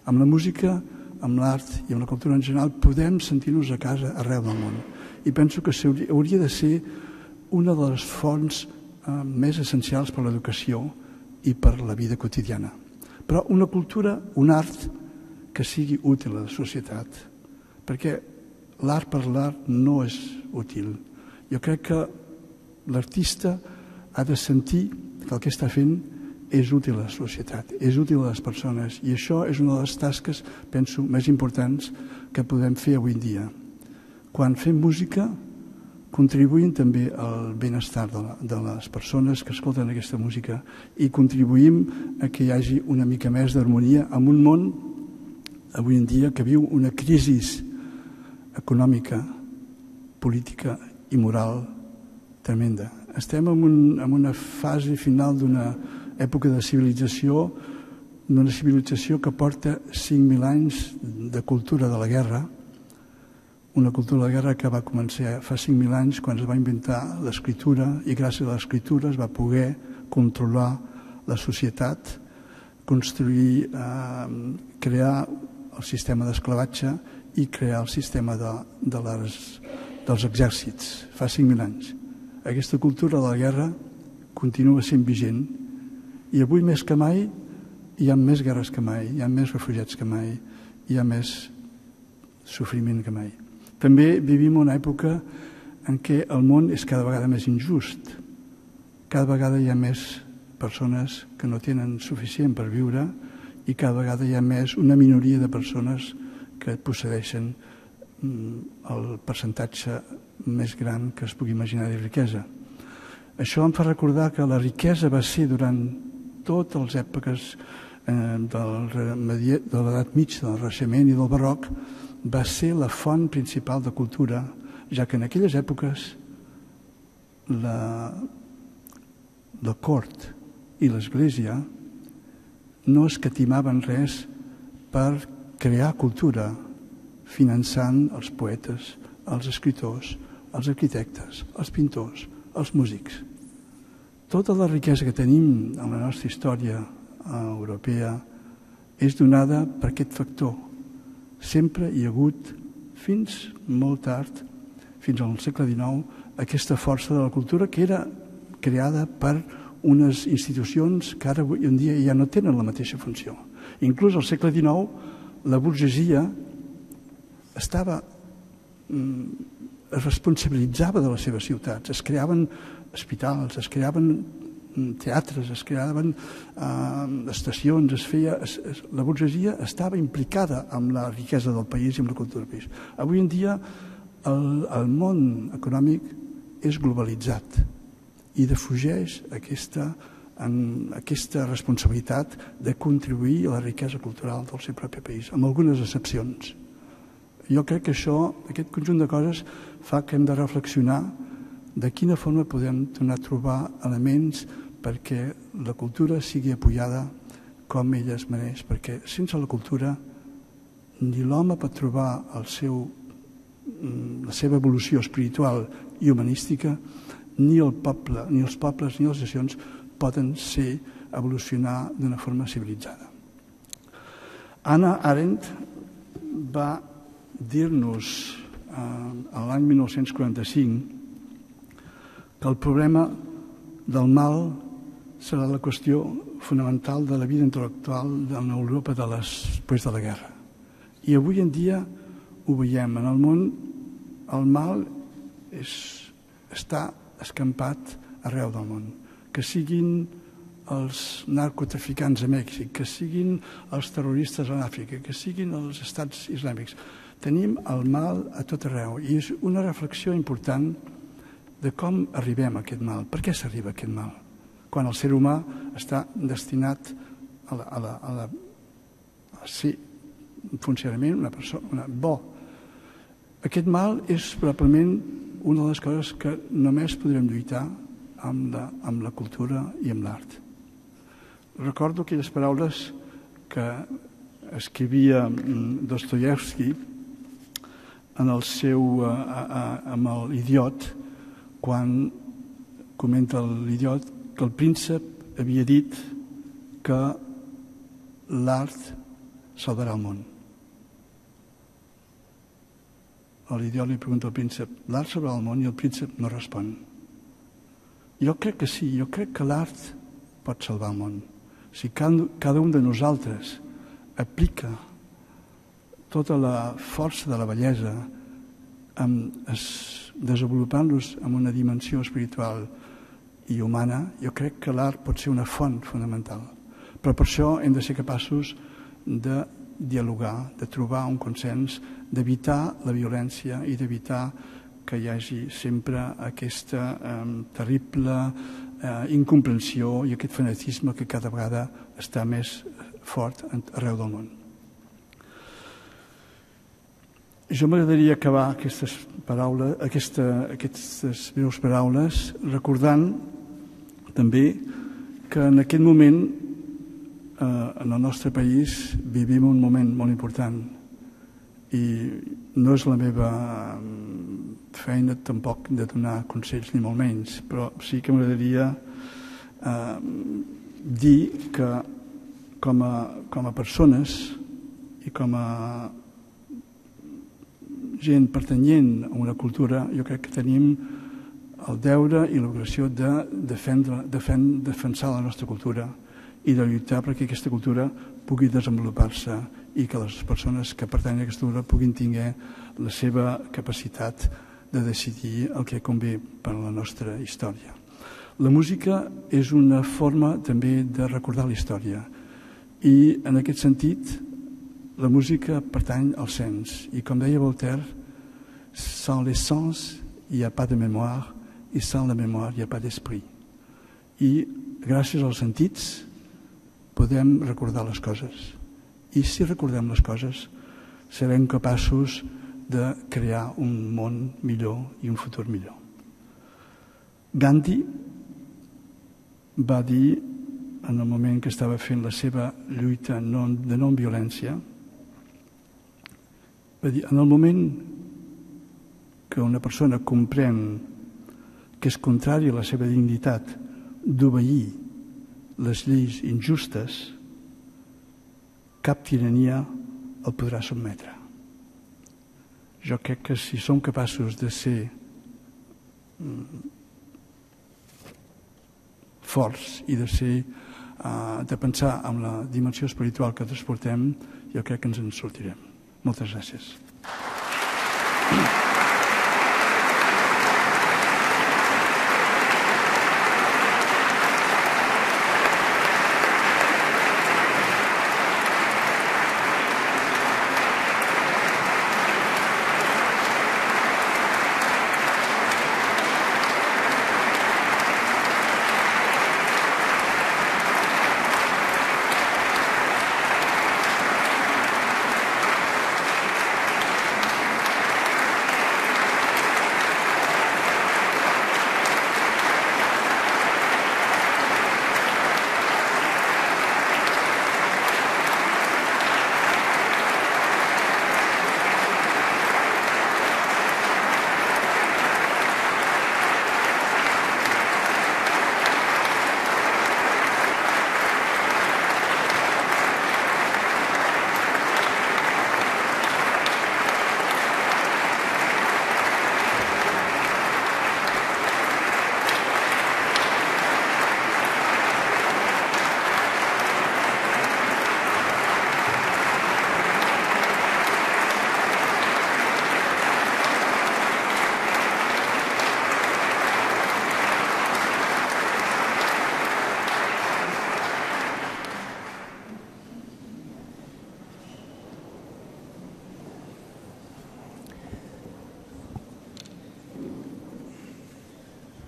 Amb la música, amb l'art i amb la cultura en general podem sentir-nos a casa arreu del món. I penso que hauria de ser una de les fonts eh, més essencials per a l'educació i per a la vida quotidiana. Però una cultura, un art que sigui útil a la societat, perquè l'art per l'art no és útil. Jo crec que l'artista ha de sentir que el que està fent és útil a la societat, és útil a les persones, i això és una de les tasques, penso, més importants que podem fer avui en dia. Quan fem música, contribuïm també al benestar de, la, de les persones que escolten aquesta música i contribuïm a que hi hagi una mica més d'harmonia en un món avui en dia que viu una crisi econòmica, política i moral tremenda. Estem en, un, en una fase final d'una època de civilització, d'una civilització que porta cinc mil anys de cultura de la guerra, una cultura de guerra que va començar fa cinc mil anys quan es va inventar l'escriptura, i gràcies a l'escriptura es va poder controlar la societat, construir, eh, crear el sistema d'esclavatge i crear el sistema de, de les, dels exèrcits fa cinc mil anys. Aquesta cultura de la guerra continua sent vigent i avui més que mai hi ha més guerres que mai, hi ha més refugiats que mai, hi ha més sofriment que mai. També vivim una època en què el món és cada vegada més injust. Cada vegada hi ha més persones que no tenen suficient per viure i cada vegada hi ha més una minoria de persones que posseeixen el percentatge més gran que es pugui imaginar de riquesa. Això em fa recordar que la riquesa va ser durant totes les èpoques de l'edat mitja, del Renaixement i del Barroc, va ser la font principal de cultura, ja que en aquelles èpoques la, la cort i l'Església no escatimaven res per crear cultura, finançant els poetes, els escriptors, els arquitectes, els pintors, els músics. Tota la riquesa que tenim en la nostra història europea és donada per aquest factor. Sempre hi ha hagut, fins molt tard, fins al segle dinou, aquesta força de la cultura que era creada per unes institucions que ara avui en dia ja no tenen la mateixa funció. Inclús al segle dinou la burgesia estava, es responsabilitzava de les seves ciutats, es creaven hospitals, es creaven teatres, es creaven eh, estacions, es feia, es, es, la burgesia estava implicada amb la riquesa del país i amb la cultura del país. Avui en dia el, el món econòmic és globalitzat i defugeix aquesta, en, aquesta responsabilitat de contribuir a la riquesa cultural del seu propi país, amb algunes excepcions. Jo crec que això, aquest conjunt de coses, fa que hem de reflexionar de quina forma podem tornar a trobar elements perquè la cultura sigui apoyada com ella es mereix, perquè sense la cultura ni l'home pot trobar el seu, la seva evolució espiritual i humanística, ni el poble, ni els pobles, ni les nacions poden ser, evolucionar d'una forma civilitzada. Hannah Arendt va dir-nos eh, l'any mil nou-cents quaranta-cinc que el problema del mal serà la qüestió fonamental de la vida intel·lectual de l'Europa de després de la guerra. I avui en dia ho veiem. En el món el mal és, està escampat arreu del món. Que siguin els narcotraficants a Mèxic, que siguin els terroristes a l'Àfrica, que siguin els estats islàmics. Tenim el mal a tot arreu i és una reflexió important de com arribem a aquest mal. Per què s'arriba a aquest mal? Quan el ser humà està destinat a, la, a, la, a, la, a ser un funcionament, una persona una, bo. Aquest mal és probablement una de les coses que només podrem lluitar amb la, amb la cultura i amb l'art. Recordo aquelles paraules que escrivia Dostoievski en el seu, a, a, amb l'Idiot, quan comenta l'Idiot que el príncep havia dit que l'art salvarà el món. L'idiot li pregunta al príncep, l'art salvarà el món? I el príncep no respon. Jo crec que sí, jo crec que l'art pot salvar el món. Si cada, cada un de nosaltres aplica tota la força de la bellesa amb es, desenvolupant-los en una dimensió espiritual i humana, jo crec que l'art pot ser una font fonamental. Però per això hem de ser capaços de dialogar, de trobar un consens, d'evitar la violència i d'evitar que hi hagi sempre aquesta eh, terrible eh, incomprensió i aquest fanatisme que cada vegada està més fort arreu del món. Jo m'agradaria acabar aquestes paraules, aquesta, aquestes breus paraules recordant també que en aquest moment eh, en el nostre país vivim un moment molt important i no és la meva feina tampoc de donar consells ni molt menys, però sí que m'agradaria eh, dir que com a, com a persones i com a gent pertanyent a una cultura, jo crec que tenim el deure i l'obligació de defendre, defend, defensar la nostra cultura i de lluitar perquè aquesta cultura pugui desenvolupar-se i que les persones que pertanyen a aquesta cultura puguin tenir la seva capacitat de decidir el que convé per a la nostra història. La música és una forma també de recordar la història i en aquest sentit la música pertany al sens i com deia Voltaire, sans les sens il n'y a pas de mémoire i sans la mémoire il n'y a pas d'esprit. I gràcies als sentits podem recordar les coses i si recordem les coses serem capaços de crear un món millor i un futur millor. Gandhi va dir en el moment que estava fent la seva lluita de no-violència, va dir, en el moment que una persona comprèn que és contrari a la seva dignitat d'obeir les lleis injustes, cap tirania el podrà sotmetre. Jo crec que si som capaços de ser forts i de ser, de pensar en la dimensió espiritual que transportem, jo crec que ens en sortirem. Moltes gràcies.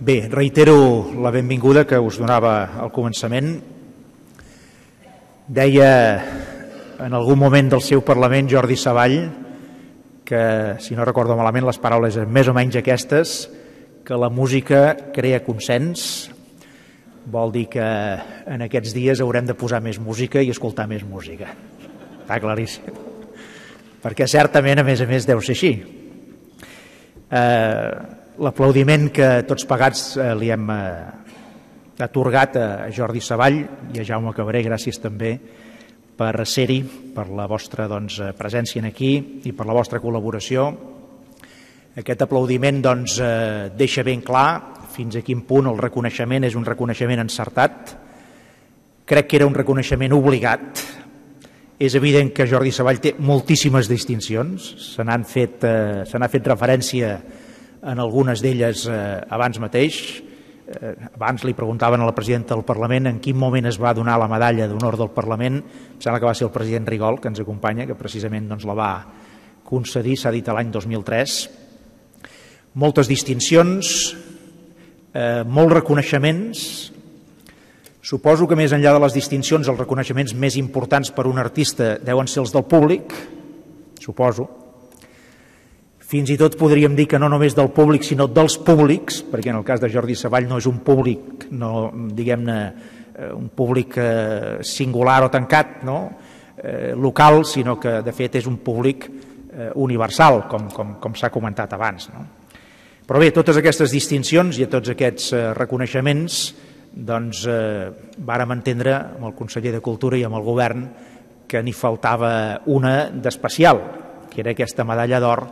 Bé, reitero la benvinguda que us donava al començament. Deia en algun moment del seu Parlament Jordi Savall que, si no recordo malament, les paraules eren més o menys aquestes, que la música crea consens. Vol dir que en aquests dies haurem de posar més música i escoltar més música. Està claríssim. Perquè certament, a més a més, deu ser així. Eh... L'aplaudiment que tots pagats eh, li hem eh, atorgat a Jordi Savall i a Jaume Cabré, gràcies també per ser-hi, per la vostra doncs, presència aquí i per la vostra col·laboració. Aquest aplaudiment doncs, eh, deixa ben clar fins a quin punt el reconeixement és un reconeixement encertat. Crec que era un reconeixement obligat. És evident que Jordi Savall té moltíssimes distincions, se n'han fet, eh, se n'ha fet referència en algunes d'elles eh, abans mateix. Eh, abans li preguntaven a la presidenta del Parlament en quin moment es va donar la medalla d'honor del Parlament. Em sembla que va ser el president Rigol, que ens acompanya, que precisament doncs, la va concedir, s'ha dit l'any dos mil tres. Moltes distincions, eh, molts reconeixements. Suposo que més enllà de les distincions, els reconeixements més importants per un artista deuen ser els del públic, suposo. Fins i tot podríem dir que no només del públic, sinó dels públics, perquè en el cas de Jordi Savall no és un públic, no, diguem-ne, un públic eh, singular o tancat, no? eh, local, sinó que de fet és un públic eh, universal, com, com, com s'ha comentat abans. No? Però bé, totes aquestes distincions i tots aquests eh, reconeixements doncs, eh, vàrem entendre amb el conseller de Cultura i amb el govern que n'hi faltava una d'especial, que era aquesta medalla d'or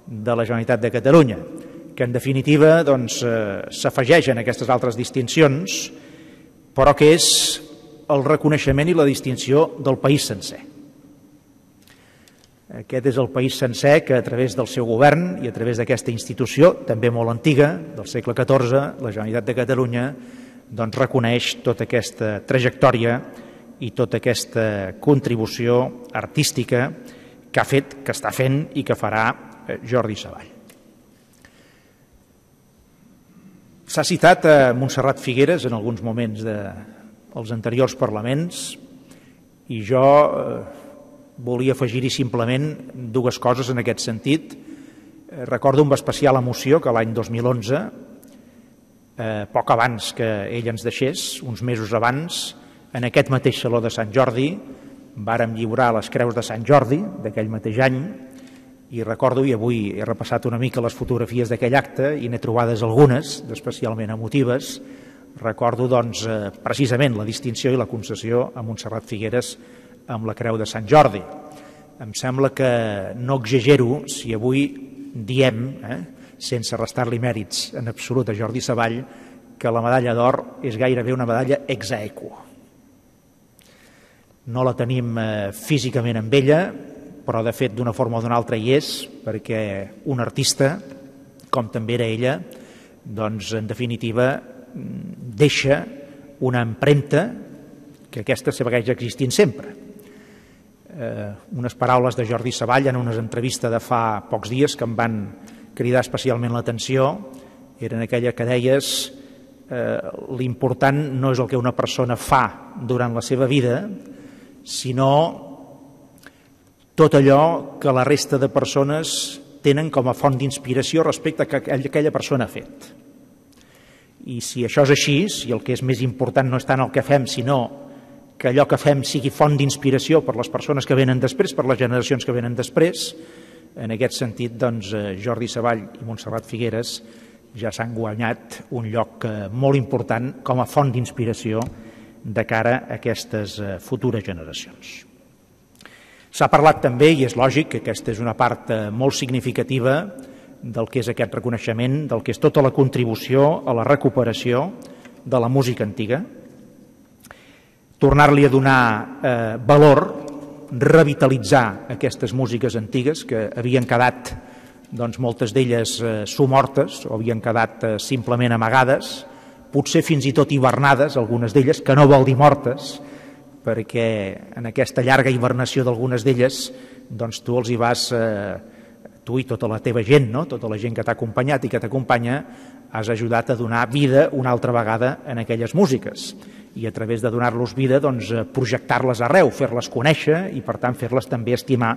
de la Generalitat de Catalunya, que en definitiva doncs, eh, s'afegeix en aquestes altres distincions, però que és el reconeixement i la distinció del país sencer. Aquest és el país sencer que a través del seu govern i a través d'aquesta institució, també molt antiga, del segle catorze, la Generalitat de Catalunya, doncs, reconeix tota aquesta trajectòria i tota aquesta contribució artística que ha fet, que està fent i que farà Jordi Savall. S'ha citat a Montserrat Figueres en alguns moments dels anteriors parlaments i jo eh, volia afegir-hi simplement dues coses en aquest sentit. Eh, recordo amb especial emoció que l'any dos mil onze, eh, poc abans que ell ens deixés, uns mesos abans, en aquest mateix Saló de Sant Jordi, vàrem lliurar les creus de Sant Jordi d'aquell mateix any. I recordo, i avui he repassat una mica les fotografies d'aquell acte i n'he trobades algunes, especialment emotives, recordo doncs, eh, precisament la distinció i la concessió a Montserrat Figueres amb la Creu de Sant Jordi. Em sembla que no exagero si avui diem, eh, sense restar-li mèrits en absolut a Jordi Savall, que la medalla d'or és gairebé una medalla ex aequo. No la tenim eh, físicament amb ella, però de fet d'una forma o d'una altra hi és, perquè un artista, com també era ella, doncs en definitiva deixa una empremta que aquesta segueix existint sempre. Eh, unes paraules de Jordi Savall en una entrevista de fa pocs dies que em van cridar especialment l'atenció eren aquella que deies eh, l'important no és el que una persona fa durant la seva vida, sinó tot allò que la resta de persones tenen com a font d'inspiració respecte a que aquella persona ha fet. I si això és així, si el que és més important no és tant el que fem, sinó que allò que fem sigui font d'inspiració per les persones que venen després, per les generacions que venen després, en aquest sentit, doncs, Jordi Savall i Montserrat Figueres ja s'han guanyat un lloc molt important com a font d'inspiració de cara a aquestes futures generacions. S'ha parlat també, i és lògic, que aquesta és una part molt significativa del que és aquest reconeixement, del que és tota la contribució a la recuperació de la música antiga, tornar-li a donar eh, valor, revitalitzar aquestes músiques antigues que havien quedat, doncs, moltes d'elles eh, somortes o havien quedat eh, simplement amagades, potser fins i tot hivernades, algunes d'elles, que no vol dir mortes, perquè en aquesta llarga hibernació d'algunes d'elles doncs tu els hi vas, eh, tu i tota la teva gent, no? Tota la gent que t'ha acompanyat i que t'acompanya, has ajudat a donar vida una altra vegada en aquelles músiques i a través de donar-los vida doncs, projectar-les arreu, fer-les conèixer i per tant fer-les també estimar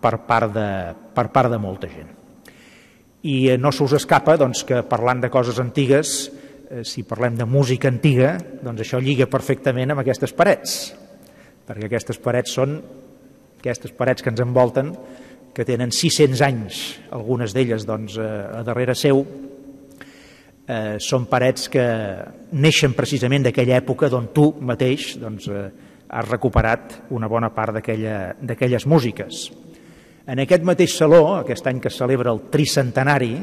per part de, per part de molta gent. I no se us escapa doncs, que parlant de coses antigues, eh, si parlem de música antiga, doncs això lliga perfectament amb aquestes parets, perquè aquestes parets són aquestes parets que ens envolten, que tenen sis-cents anys, algunes d'elles doncs, a darrere seu, eh, són parets que neixen precisament d'aquella època d'on tu mateix doncs, eh, has recuperat una bona part d'aquelles músiques. En aquest mateix saló, aquest any que es celebra el tricentenari,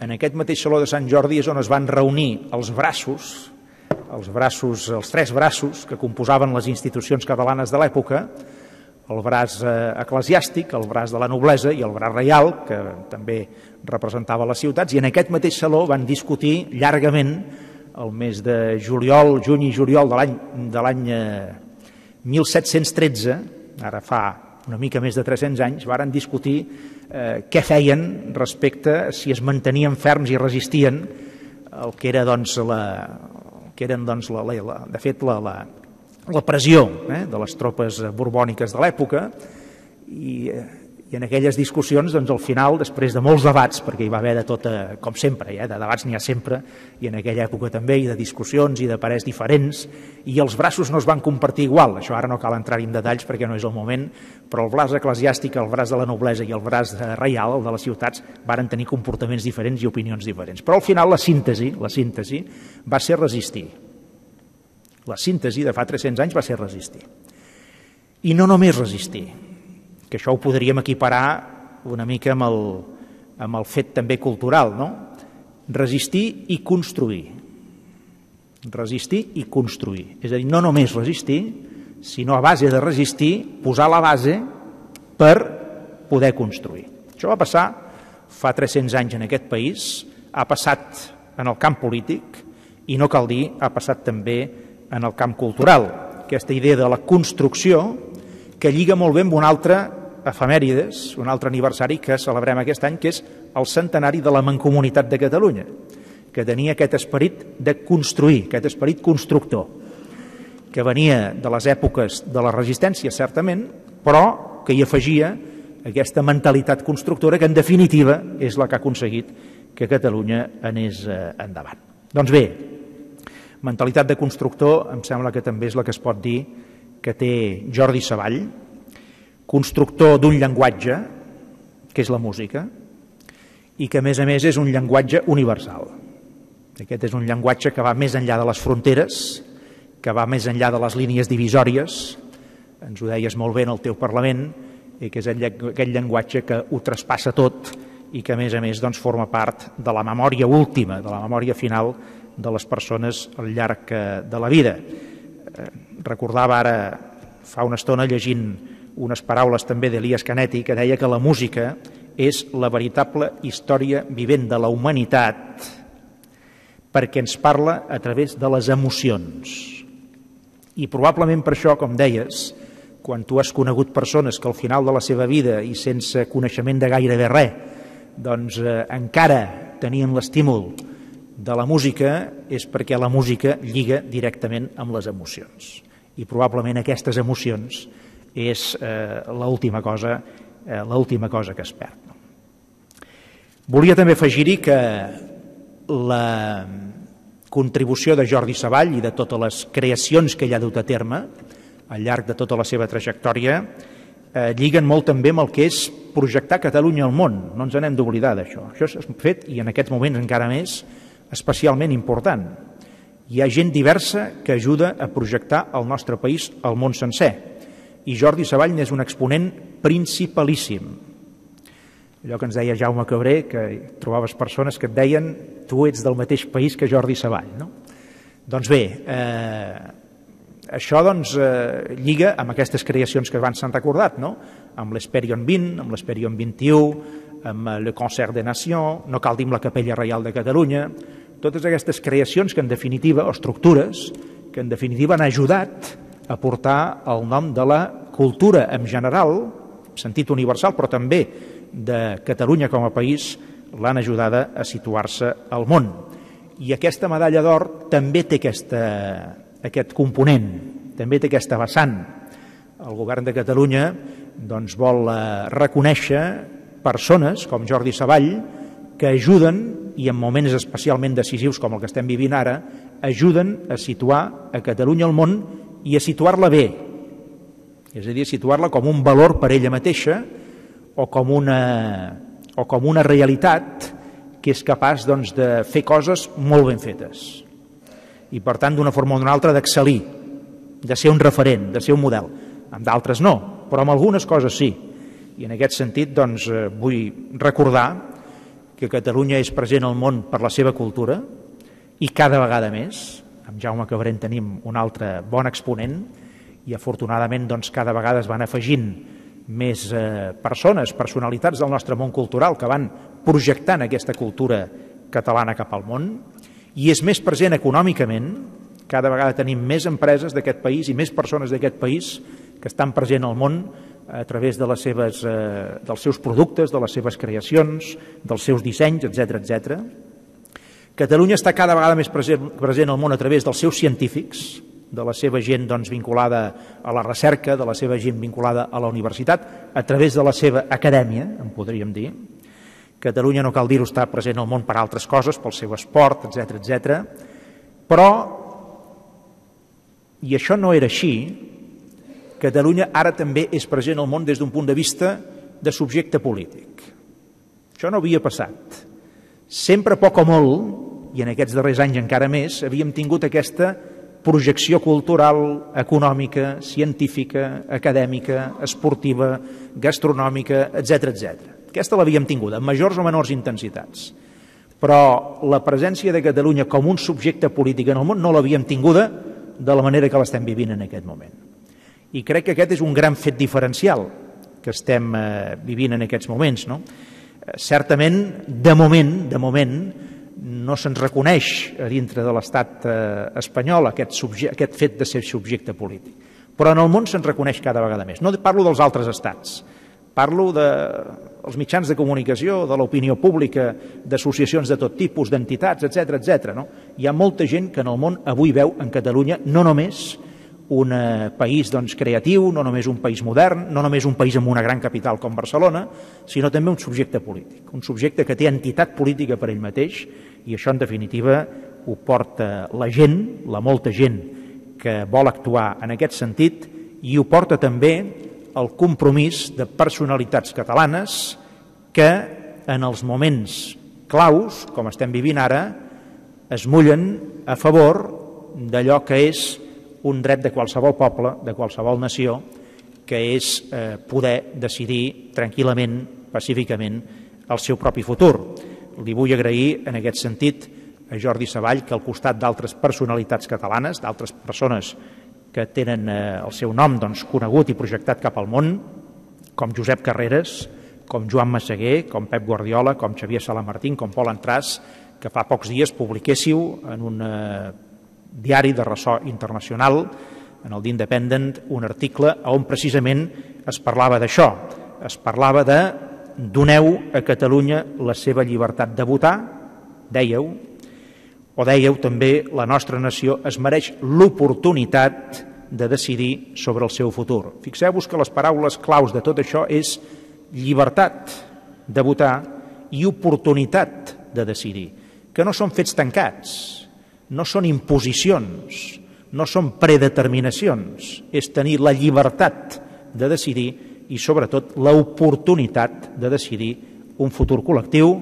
en aquest mateix saló de Sant Jordi és on es van reunir els braços, els braços, els tres braços que composaven les institucions catalanes de l'època, el braç eclesiàstic, el braç de la noblesa i el braç reial, que també representava les ciutats, i en aquest mateix saló van discutir llargament el mes de juliol, juny i juliol de l'any mil set-cents tretze, ara fa una mica més de tres-cents anys, varen discutir eh, què feien respecte a si es mantenien ferms i resistien el que era, doncs, la, que eren, doncs, la, la, de fet, la, la, la pressió eh, de les tropes borbòniques de l'època i, i en aquelles discussions, doncs, al final, després de molts debats, perquè hi va haver de tot, com sempre, eh, de debats n'hi ha sempre, i en aquella època també, i de discussions i de parers diferents, i els braços no es van compartir igual, això ara no cal entrar-hi en detalls perquè no és el moment, però el braç eclesiàstic, el braç de la noblesa i el braç reial, el de les ciutats, varen tenir comportaments diferents i opinions diferents. Però al final la síntesi, la síntesi va ser resistir. La síntesi de fa tres-cents anys va ser resistir. I no només resistir, que això ho podríem equiparar una mica amb el, amb el fet també cultural, no? Resistir i construir. Resistir i construir. És a dir, no només resistir, sinó a base de resistir, posar la base per poder construir. Això va passar fa tres-cents anys en aquest país, ha passat en el camp polític i no cal dir, ha passat també en el camp cultural. Aquesta idea de la construcció que lliga molt bé amb un altre efemèrides, un altre aniversari que celebrem aquest any, que és el centenari de la Mancomunitat de Catalunya, que tenia aquest esperit de construir, aquest esperit constructor, que venia de les èpoques de la resistència, certament, però que hi afegia aquesta mentalitat constructora que, en definitiva, és la que ha aconseguit que Catalunya anés endavant. Doncs bé, mentalitat de constructor em sembla que també és la que es pot dir que té Jordi Savall, constructor d'un llenguatge, que és la música, i que a més a més és un llenguatge universal. Aquest és un llenguatge que va més enllà de les fronteres, que va més enllà de les línies divisòries, ens ho deies molt bé en el teu Parlament, i que és aquell llenguatge que ho traspassa tot i que a més a més doncs, forma part de la memòria última, de la memòria final de les persones al llarg de la vida. Recordava ara fa una estona llegint unes paraules també d'Elias Canetti que deia que la música és la veritable història vivent de la humanitat perquè ens parla a través de les emocions. I probablement per això, com deies, quan tu has conegut persones que al final de la seva vida i sense coneixement de gairebé res, doncs eh, encara tenien l'estímul de la música, és perquè la música lliga directament amb les emocions. I probablement aquestes emocions és eh, l'última cosa, eh, l'última cosa que es perd. No? Volia també afegir-hi que la contribució de Jordi Savall i de totes les creacions que ell ha dut a terme al llarg de tota la seva trajectòria eh, lliguen molt també amb el que és projectar Catalunya al món. No ens n'hem d'oblidar d'això. Això és fet, i en aquests moments encara més, especialment important. Hi ha gent diversa que ajuda a projectar el nostre país al món sencer. I Jordi Savall n'és un exponent principalíssim. Allò que ens deia Jaume Cabré, que trobaves persones que et deien tu ets del mateix país que Jordi Savall. No? Doncs bé, eh, això doncs, eh, lliga amb aquestes creacions que abans s'han recordat, no? Amb l'Esperion vint, amb l'Esperion vint-i-u, amb le Concert des Nations, no cal dir amb la Capella Reial de Catalunya, totes aquestes creacions que en definitiva, o estructures, que en definitiva han ajudat a portar el nom de la cultura en general, en sentit universal, però també de Catalunya com a país, l'han ajudada a situar-se al món. I aquesta medalla d'or també té aquesta, aquest component, també té aquesta vessant. El govern de Catalunya doncs, vol reconèixer persones com Jordi Savall que ajuden, i en moments especialment decisius com el que estem vivint ara, ajuden a situar a Catalunya al món i a situar-la bé, és a dir, a situar-la com un valor per ella mateixa o com una, o com una realitat que és capaç doncs, de fer coses molt ben fetes i per tant d'una forma o d'una altra d'excel·lir, de ser un referent, de ser un model. Amb d'altres no, però amb algunes coses sí. I en aquest sentit doncs, vull recordar que Catalunya és present al món per la seva cultura i cada vegada més. Amb Jaume Cabré en tenim un altre bon exponent i afortunadament doncs, cada vegada es van afegint més eh, persones, personalitats del nostre món cultural que van projectant aquesta cultura catalana cap al món i és més present econòmicament, cada vegada tenim més empreses d'aquest país i més persones d'aquest país que estan present al món a través de les seves, eh, dels seus productes, de les seves creacions, dels seus dissenys, etcètera, etcètera. Catalunya està cada vegada més present, present al món a través dels seus científics, de la seva gent doncs, vinculada a la recerca, de la seva gent vinculada a la universitat, a través de la seva acadèmia, en podríem dir. Catalunya, no cal dir-ho, està present al món per altres coses, pel seu esport, etcètera, etcètera. Però, i això no era així, Catalunya ara també és present al món des d'un punt de vista de subjecte polític. Això no havia passat. Sempre poc o molt, i en aquests darrers anys encara més, havíem tingut aquesta projecció cultural, econòmica, científica, acadèmica, esportiva, gastronòmica, etcètera, etcètera. Aquesta l'havíem tingut, amb majors o menors intensitats. Però la presència de Catalunya com un subjecte polític en el món no l'havíem tinguda de la manera que l'estem vivint en aquest moment. I crec que aquest és un gran fet diferencial que estem eh, vivint en aquests moments. No? Eh, certament, de moment, de moment, no se'ns reconeix a dintre de l'estat eh, espanyol aquest, subje aquest fet de ser subjecte polític. Però en el món se'ns reconeix cada vegada més. No parlo dels altres estats, parlo dels mitjans de comunicació, de l'opinió pública, d'associacions de tot tipus, d'entitats, etcètera, etcètera. No? Hi ha molta gent que en el món avui veu en Catalunya no només un eh, país doncs, creatiu, no només un país modern, no només un país amb una gran capital com Barcelona, sinó també un subjecte polític, un subjecte que té entitat política per ell mateix i això en definitiva ho porta la gent, la molta gent que vol actuar en aquest sentit i ho porta també el compromís de personalitats catalanes que en els moments claus, com estem vivint ara, es mullen a favor d'allò que és un dret de qualsevol poble, de qualsevol nació, que és eh, poder decidir tranquil·lament, pacíficament, el seu propi futur. Li vull agrair en aquest sentit a Jordi Savall que al costat d'altres personalitats catalanes, d'altres persones que tenen el seu nom conegut i projectat cap al món, com Josep Carreras, com Joan Massaguer, com Pep Guardiola, com Xavier Salamartín, com Pol Entràs, que fa pocs dies publiquéssiu en un diari de ressò internacional, en el The Independent, un article on precisament es parlava d'això. Es parlava de doneu a Catalunya la seva llibertat de votar, dèieu, o dèieu també la nostra nació es mereix l'oportunitat de decidir sobre el seu futur. Fixeu-vos que les paraules claus de tot això és llibertat de votar i oportunitat de decidir, que no són fets tancats, no són imposicions, no són predeterminacions, és tenir la llibertat de decidir i sobretot l'oportunitat de decidir un futur col·lectiu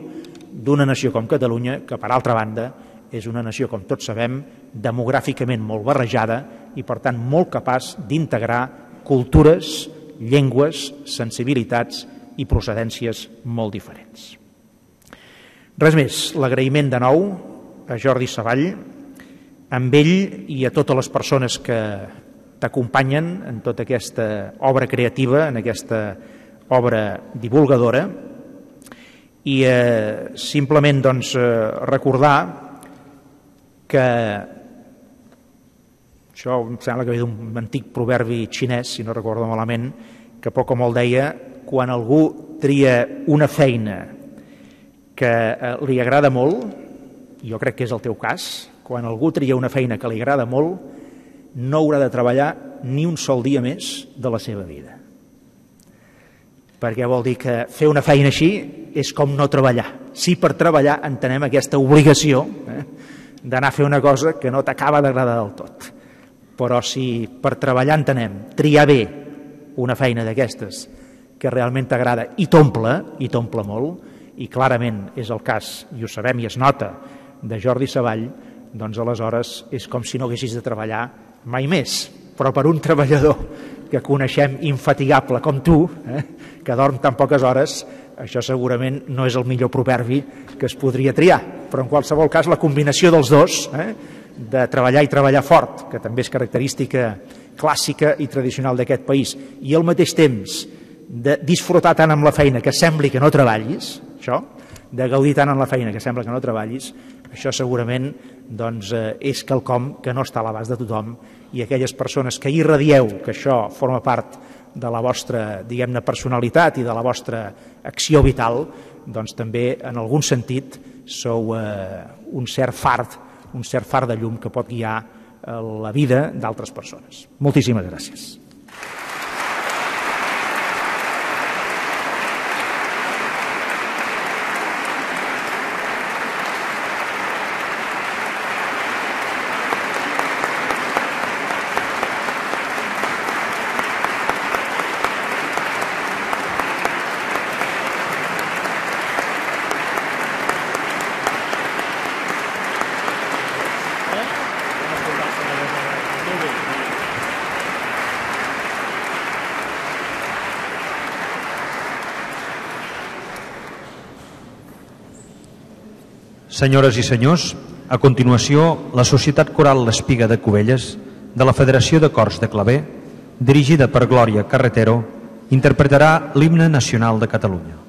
d'una nació com Catalunya, que per altra banda és una nació, com tots sabem, demogràficament molt barrejada i per tant molt capaç d'integrar cultures, llengües, sensibilitats i procedències molt diferents. Res més, l'agraïment de nou a Jordi Savall, amb ell i a totes les persones que t'acompanyen en tota aquesta obra creativa, en aquesta obra divulgadora, i eh, simplement doncs, eh, recordar que això em sembla que ve d'un antic proverbi xinès, si no recordo malament, que poc o molt deia: quan algú tria una feina que li agrada molt, jo crec que és el teu cas, quan algú tria una feina que li agrada molt, no haurà de treballar ni un sol dia més de la seva vida. Perquè vol dir que fer una feina així és com no treballar. Sí, per treballar entenem aquesta obligació eh, d'anar a fer una cosa que no t'acaba d'agradar del tot. Però si per treballar entenem triar bé una feina d'aquestes que realment t'agrada i t'omple, i t'omple molt, i clarament és el cas, i ho sabem i es nota, de Jordi Savall, doncs aleshores és com si no haguessis de treballar mai més. Però per un treballador que coneixem infatigable com tu, eh, que dorm tan poques hores, això segurament no és el millor proverbi que es podria triar. Però en qualsevol cas la combinació dels dos, eh, de treballar i treballar fort, que també és característica clàssica i tradicional d'aquest país, i al mateix temps de disfrutar tant amb la feina que sembli que no treballis, això, de gaudir tant amb la feina que sembla que no treballis, això segurament doncs, eh, és quelcom que no està a l'abast de tothom, i aquelles persones que irradieu que això forma part de la vostra, diguem-ne, personalitat i de la vostra acció vital, doncs també en algun sentit sou eh, un cert fart, un cert far de llum que pot guiar eh, la vida d'altres persones. Moltíssimes gràcies. Senyores i senyors, a continuació, la Societat Coral L'Espiga de Cubelles, de la Federació de Cors de Claver, dirigida per Glòria Carretero, interpretarà l'himne nacional de Catalunya.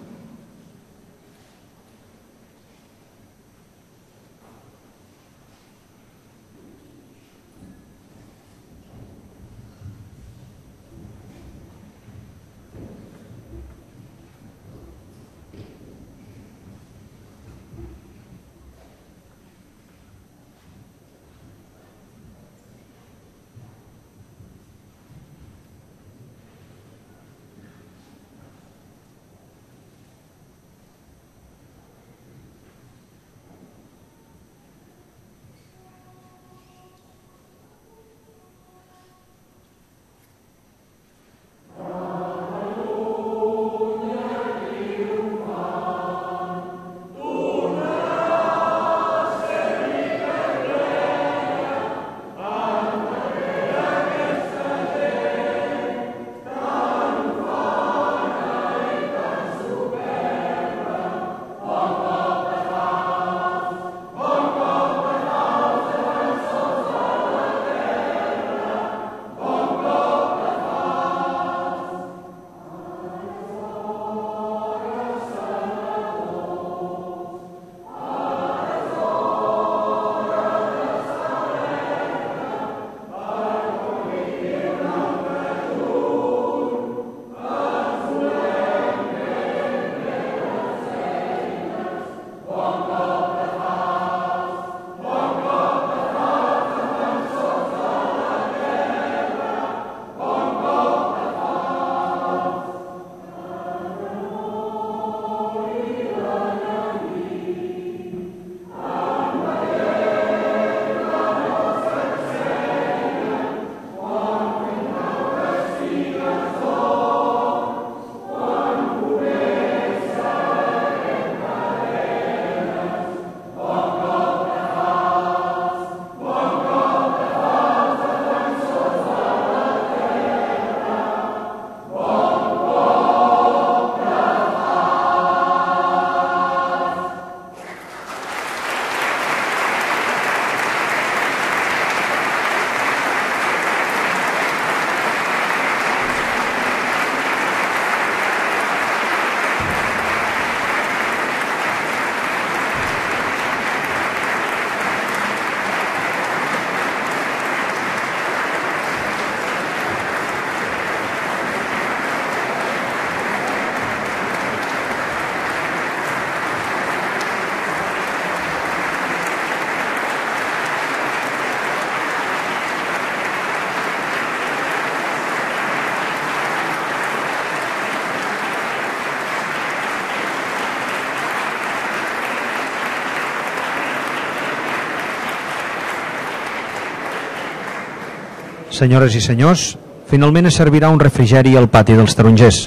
Senyores i senyors, finalment es servirà un refrigeri al pati dels tarongers.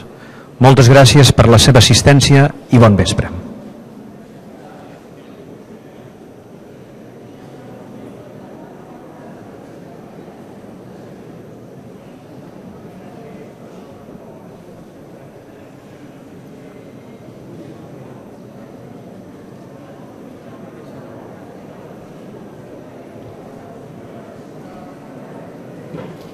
Moltes gràcies per la seva assistència i bon vespre. Thank you.